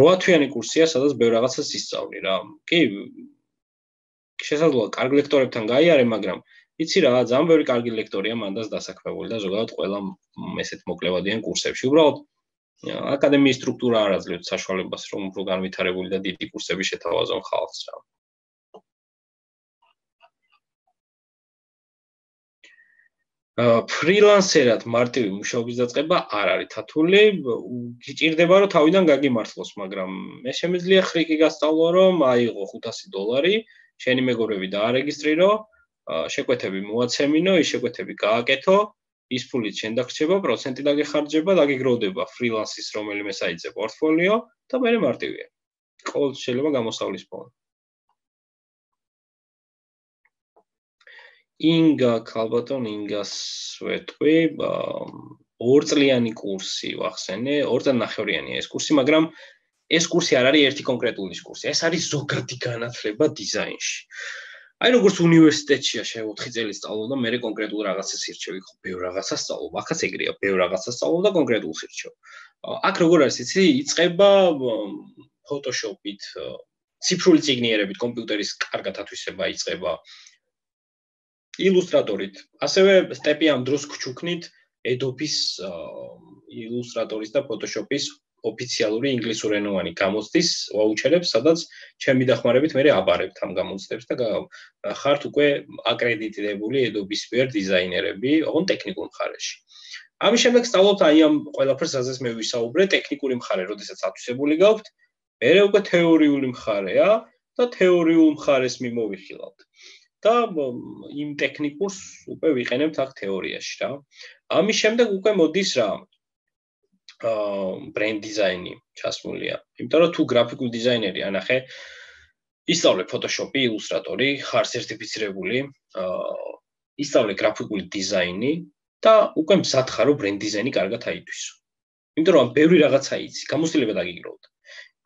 რვა თვიანი კურსია, სადაც ბევრ რაღაცას ისწავლი რა. კი, შესაძლოა კარგ ლექტორებთან გაიარე, მაგრამ იცი რა, ძალიან ბევრი კარგი ლექტორია მანდაც დასაქმებული და ზოგადად ყველა ესეთ მოკლევადიან კურსებში. უბრალოდ აკადემიის სტრუქტურა არ აძლევს საშუალებას, რომ უფრო განვითარებული და დიდი კურსები შეთავაზონ ხალხს რა. ფრილანსერად მარტივი მუშაობის დაწყება არ არის თათული, გიჭირდება რომ თავიდან გაგიმართლოს, მაგრამ მე შემიძლია ხრიკი გასწავლო, რომ აიღო ხუთასი დოლარი, შენი მეგობრები დაარეგისტრირო, შეკვეთები მოაცემინო, ის შეკვეთები გააკეთო, ის ფულით შენ დაგრჩება, პროცენტი დაგეხარჯება, დაგიგროვდება ფრილანსის რომელიმე საიტზე პორტფოლიო და მე მარტივია. ყოველთვის შეიძლება გამოსავლის ფონი. ინგა, ქალბატონ ინგას ვეთქვი, ორწლიანი კურსი ვახსენე, ორწლიანახევრიანია ეს კურსი, მაგრამ ეს კურსი არ არის ერთი კონკრეტული კურსი, ეს არის ზოგადი განათლება დიზაინში. აი როგორც უნივერსიტეტშია შე ოთხი წელი სწავლობ და მე კონკრეტულ რაღაცას ირჩევი, ხო, ბევრ რაღაცას სწავლობ, ახაც ეგრეა, ბევრ რაღაცას სწავლობ და კონკრეტულს ირჩევ. აქ როგორ არის, იცი, იწყება Photoshop-ით, ციფრული წიგნიერებით, კომპიუტერის კარგად ათვისება იწყება. ილუსტრატორით. ასევე სტეპი ამ დროს გჩუქნით Adobe-ის ილუსტრატორის და Photoshop-ის ოფიციალური ინგლისურენოვანი გამოცდის ვაუჩერებს, სადაც ჩემი დახმარებით მე აბარებთ ამ გამოცდებს და ხართ უკვე აკრედიტირებული Adobe-ის მიერ დიზაინერები, ოღონდ ტექნიკურ მხარეში. ამის შემდეგ სწავლობთ აი ამ ყველაფერს, სადაც მე ვისაუბრე, ტექნიკური მხარე, როდესაც ათვისებული გაქვთ, მერე უკვე თეორიული მხარეა და თეორიულ მხარეს მიმოვიხილავთ. და იმ ტექნიკურს უკვე ვიყენებთ აქ თეორიაში რა. ამის შემდეგ უკვე მოდის რა აა ბრენდ დიზაინი ჩასმულია. იმიტომ რომ თუ გრაფიკული დიზაინერი ანახე ისწავლე Photoshop-ი, ილუსტრატორი, ხარ სერტიფიცირებული, აა ისწავლე გრაფიკული დიზაინი და უკვე მზად ხარ რომ ბრენდ დიზაინი კარგად აითვისო. იმიტომ რომ ბევრი რაღაცა იცი, გამოცდილება დაგიგროვდა.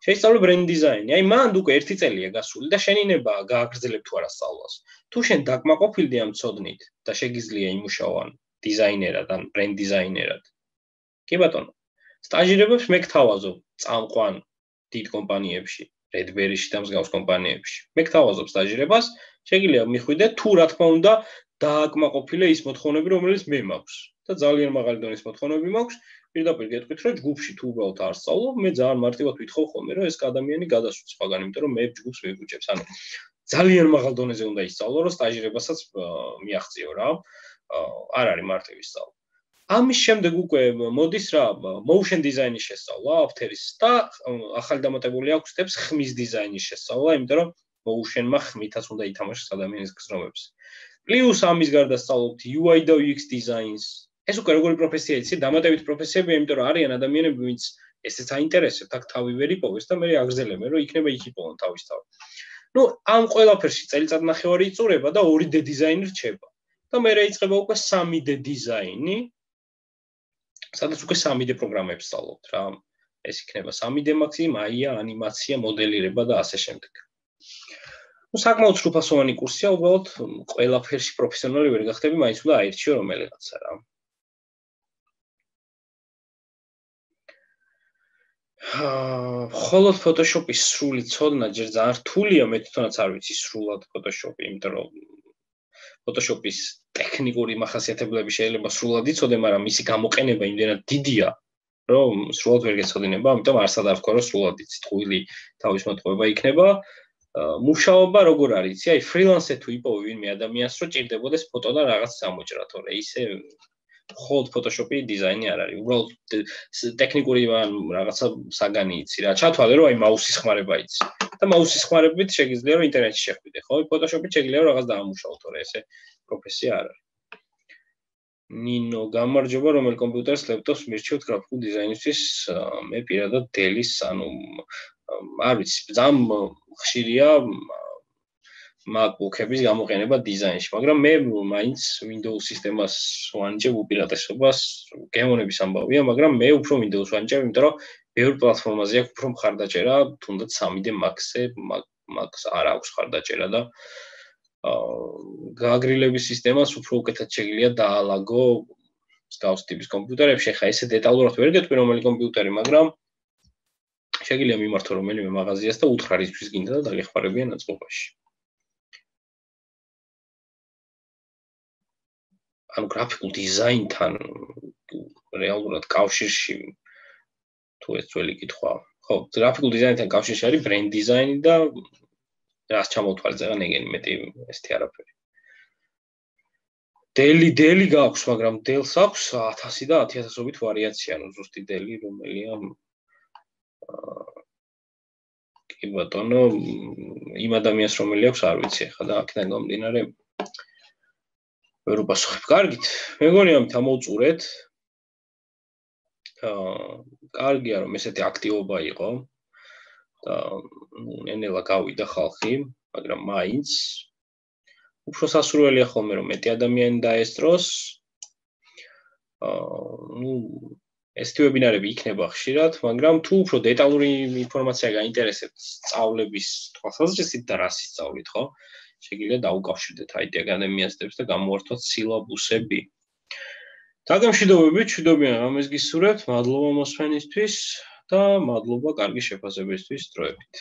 შეისწავლე ბრენდ დიზაინი. აი მანდ უკვე ერთი წელია გასული და შენინებაა გააგრძელებ თუ არა სწავლას. თუ შენ დაკმაყოფილდი ამ ცოდნით და შეგიძლია იმუშაო დიზაინერად ან ბრენდ დიზაინერად. კი ბატონო. სტაჟირებებს მე გთავაზობ წამყვან დიდ კომპანიებში, Redberry-ში და მსგავს კომპანიებში. მე გთავაზობ სტაჟირებას, შეგიძლია მიხვიდე თუ რა თქმა უნდა დააკმაყოფილე ის მოთხოვნები, რომელიც მე მაქვს. და ძალიან მაღალი დონის მოთხოვნები მაქვს. პირდაპირ გეტყვით, რომ ჯგუფში თუ უბრალოდ არ სწავლობ, მე ძალიან მარტივად ვითხოვ ხოლმე, რომ ეს ადამიანი გადასვით სხვაგან, იმიტომ რომ მე ჯგუფს მივუჭებს. ანუ ძალიან მაღალ დონეზე უნდა ისწავლო, რომ სტაჟირებასაც მიაღწიო რა. არ არის მარტივი სწავლა. ამის შემდეგ უკვე მოდის რა, motion design-ის შესწავლა, After-ის და ახალი დამატებული აქვს steps ხმის დიზაინის შესწავლა, იმიტომ რომ motion-მა ხმითაც უნდა ითამაშოს ადამიანის გზნობებს. Plus ამის გარდა სწავლობთ U I და U X designs. ეს უკვე როგორი პროფესია იცი, დამატებით პროფესიებია, იმიტომ რომ არიან ადამიანები, ვინც ესეც აინტერესებთ, აქ თავი ვერ იპოვეს და მე აგრძელებენ, რომ იქნება იქ იპოვონ თავის თავი. ნუ ამ ყველაფერში წელიწად ნახევარი იწურება და ორი D დიზაინი რჩება. და მე რეიწყება უკვე სამი D დიზაინი. სადაც უკვე სამი D პროგრამებს სწავლობთ რა. ეს იქნება სამი D Max, Maya, ანიმაცია, მოდელირება და ასე შემდეგ. ნუ საკმაოდ სრულფასოვანი კურსია, უბრალოდ ყველაფერში პროფესიონალი ვერ გახდები, მაინც უნდა აირჩიო რომელიღაცა რა. ხოლოდ Photoshop-ის სრული ცოდნა ჯერ ძალიან რთულია, მე თვითონაც არ ვიცი სრულად Photoshop-ი, იმიტომ რომ Photoshop-ის ტექნიკური მახასიათებლები შეიძლება სრულად იცოდე, მაგრამ მისი გამოყენება იმდენად დიდია, რომ სრულად ვერ გეცოდინება, ამიტომ არსად არ ვქო, რომ სრულად იცი, ტყუილი თავის მოტყუება იქნება. მუშაობა როგორ არის, იცი, აი ფრილანსზე თუ იპოვე ვინმე ადამიანს, რომ ჭირდებოდეს ფოტო და რაღაც გამოჭრა, თორე ისე მხოლოდ Photoshop-ი დიზაინი არ არის. უბრალოდ ტექნიკური რაღაცა საგანი იცი რა. ჩათვალე რომ აი მაუსის ხმარება იცი. და მაუსის ხმარებით შეგიძლია რომ ინტერნეტში შეხვიდე, ხო? Photoshop-ით შეგიძლია რომ რაღაც დაამუშავო, თორე ესე პროფესია არ არის. ნინო, გამარჯობა, რომელ კომპიუტერს, ლეპტოპს მირჩევთ გრაფიკულ დიზაინისთვის? მე პირადად Dell-ის, ანუ არ ვიცი, ძალიან ხშირია MacBook-ების გამოყენება დიზაინში, მაგრამ მე მაინც Windows სისტემას ვანიჭებ უპირატესობას, გემონების ამბავია, მაგრამ მე უფრო Windows ვანიჭებ, იმიტომ რომ ბევრ პლატფორმაზე აქვს უფრო მხარდაჭერა, თუნდაც სამი D Max-ზე, Max არ აქვს მხარდაჭერა და გააგრილების სისტემას უფრო უკეთად შეგიძლია დაალაგო მსგავს ტიპის კომპიუტერებში. ხა ესე დეტალურად ვერ გეტყვი რომელი კომპიუტერი, მაგრამ შეგიძლია მიმართო რომელიმე მაღაზიას და უთხრა რისთვის გინდა და დაგეხმარებიან აწყობაში. ანუ გრაფიკულ დიზაინთან რეალურად კავშირში თუ ეს ძველი კითხვა. ხო, გრაფიკულ დიზაინთან კავშირში არის ბრენდ დიზაინი და რას ჩამოვთვალე ზეგან ეგენი მეტი ესეთი არაფერი. Dell-ი, Dell-ი გაქვს, მაგრამ Dell-ს აქვს ათასი და ათი ათასობით ვარიაცია, ანუ ზუსტი Dell-ი რომელია კი ბატონო, იმ ადამიანს რომელი აქვს არ ვიცი ახლა და აქედან გამომდინარე ვერ უპასუხებ. კარგით, მეგონი ამით ამოვწურეთ. აა, კარგია რომ ესეთი აქტივობა იყო და ნენელა გავიდა ხალხი, მაგრამ მაინც უფრო სასურველია ხოლმე რომ მეტი ადამიანი დაესწროს. აა, ნუ ესეთი ვებინარები იქნება ხშირად, მაგრამ თუ უფრო დეტალური ინფორმაცია გაინტერესებთ სწავლების თვალსაზრისით და რას ისწავლით, ხო? შეგიძლია დაუკავშირდეთ აი ტი აკადემიას და გამოვართოთ სილაბუსები. დაგემშვიდობებით, მშვიდობიან ამას გისურვებთ, მადლობა მოსვენისთვის და მადლობა კარგი შეფასებისთვის დროებით.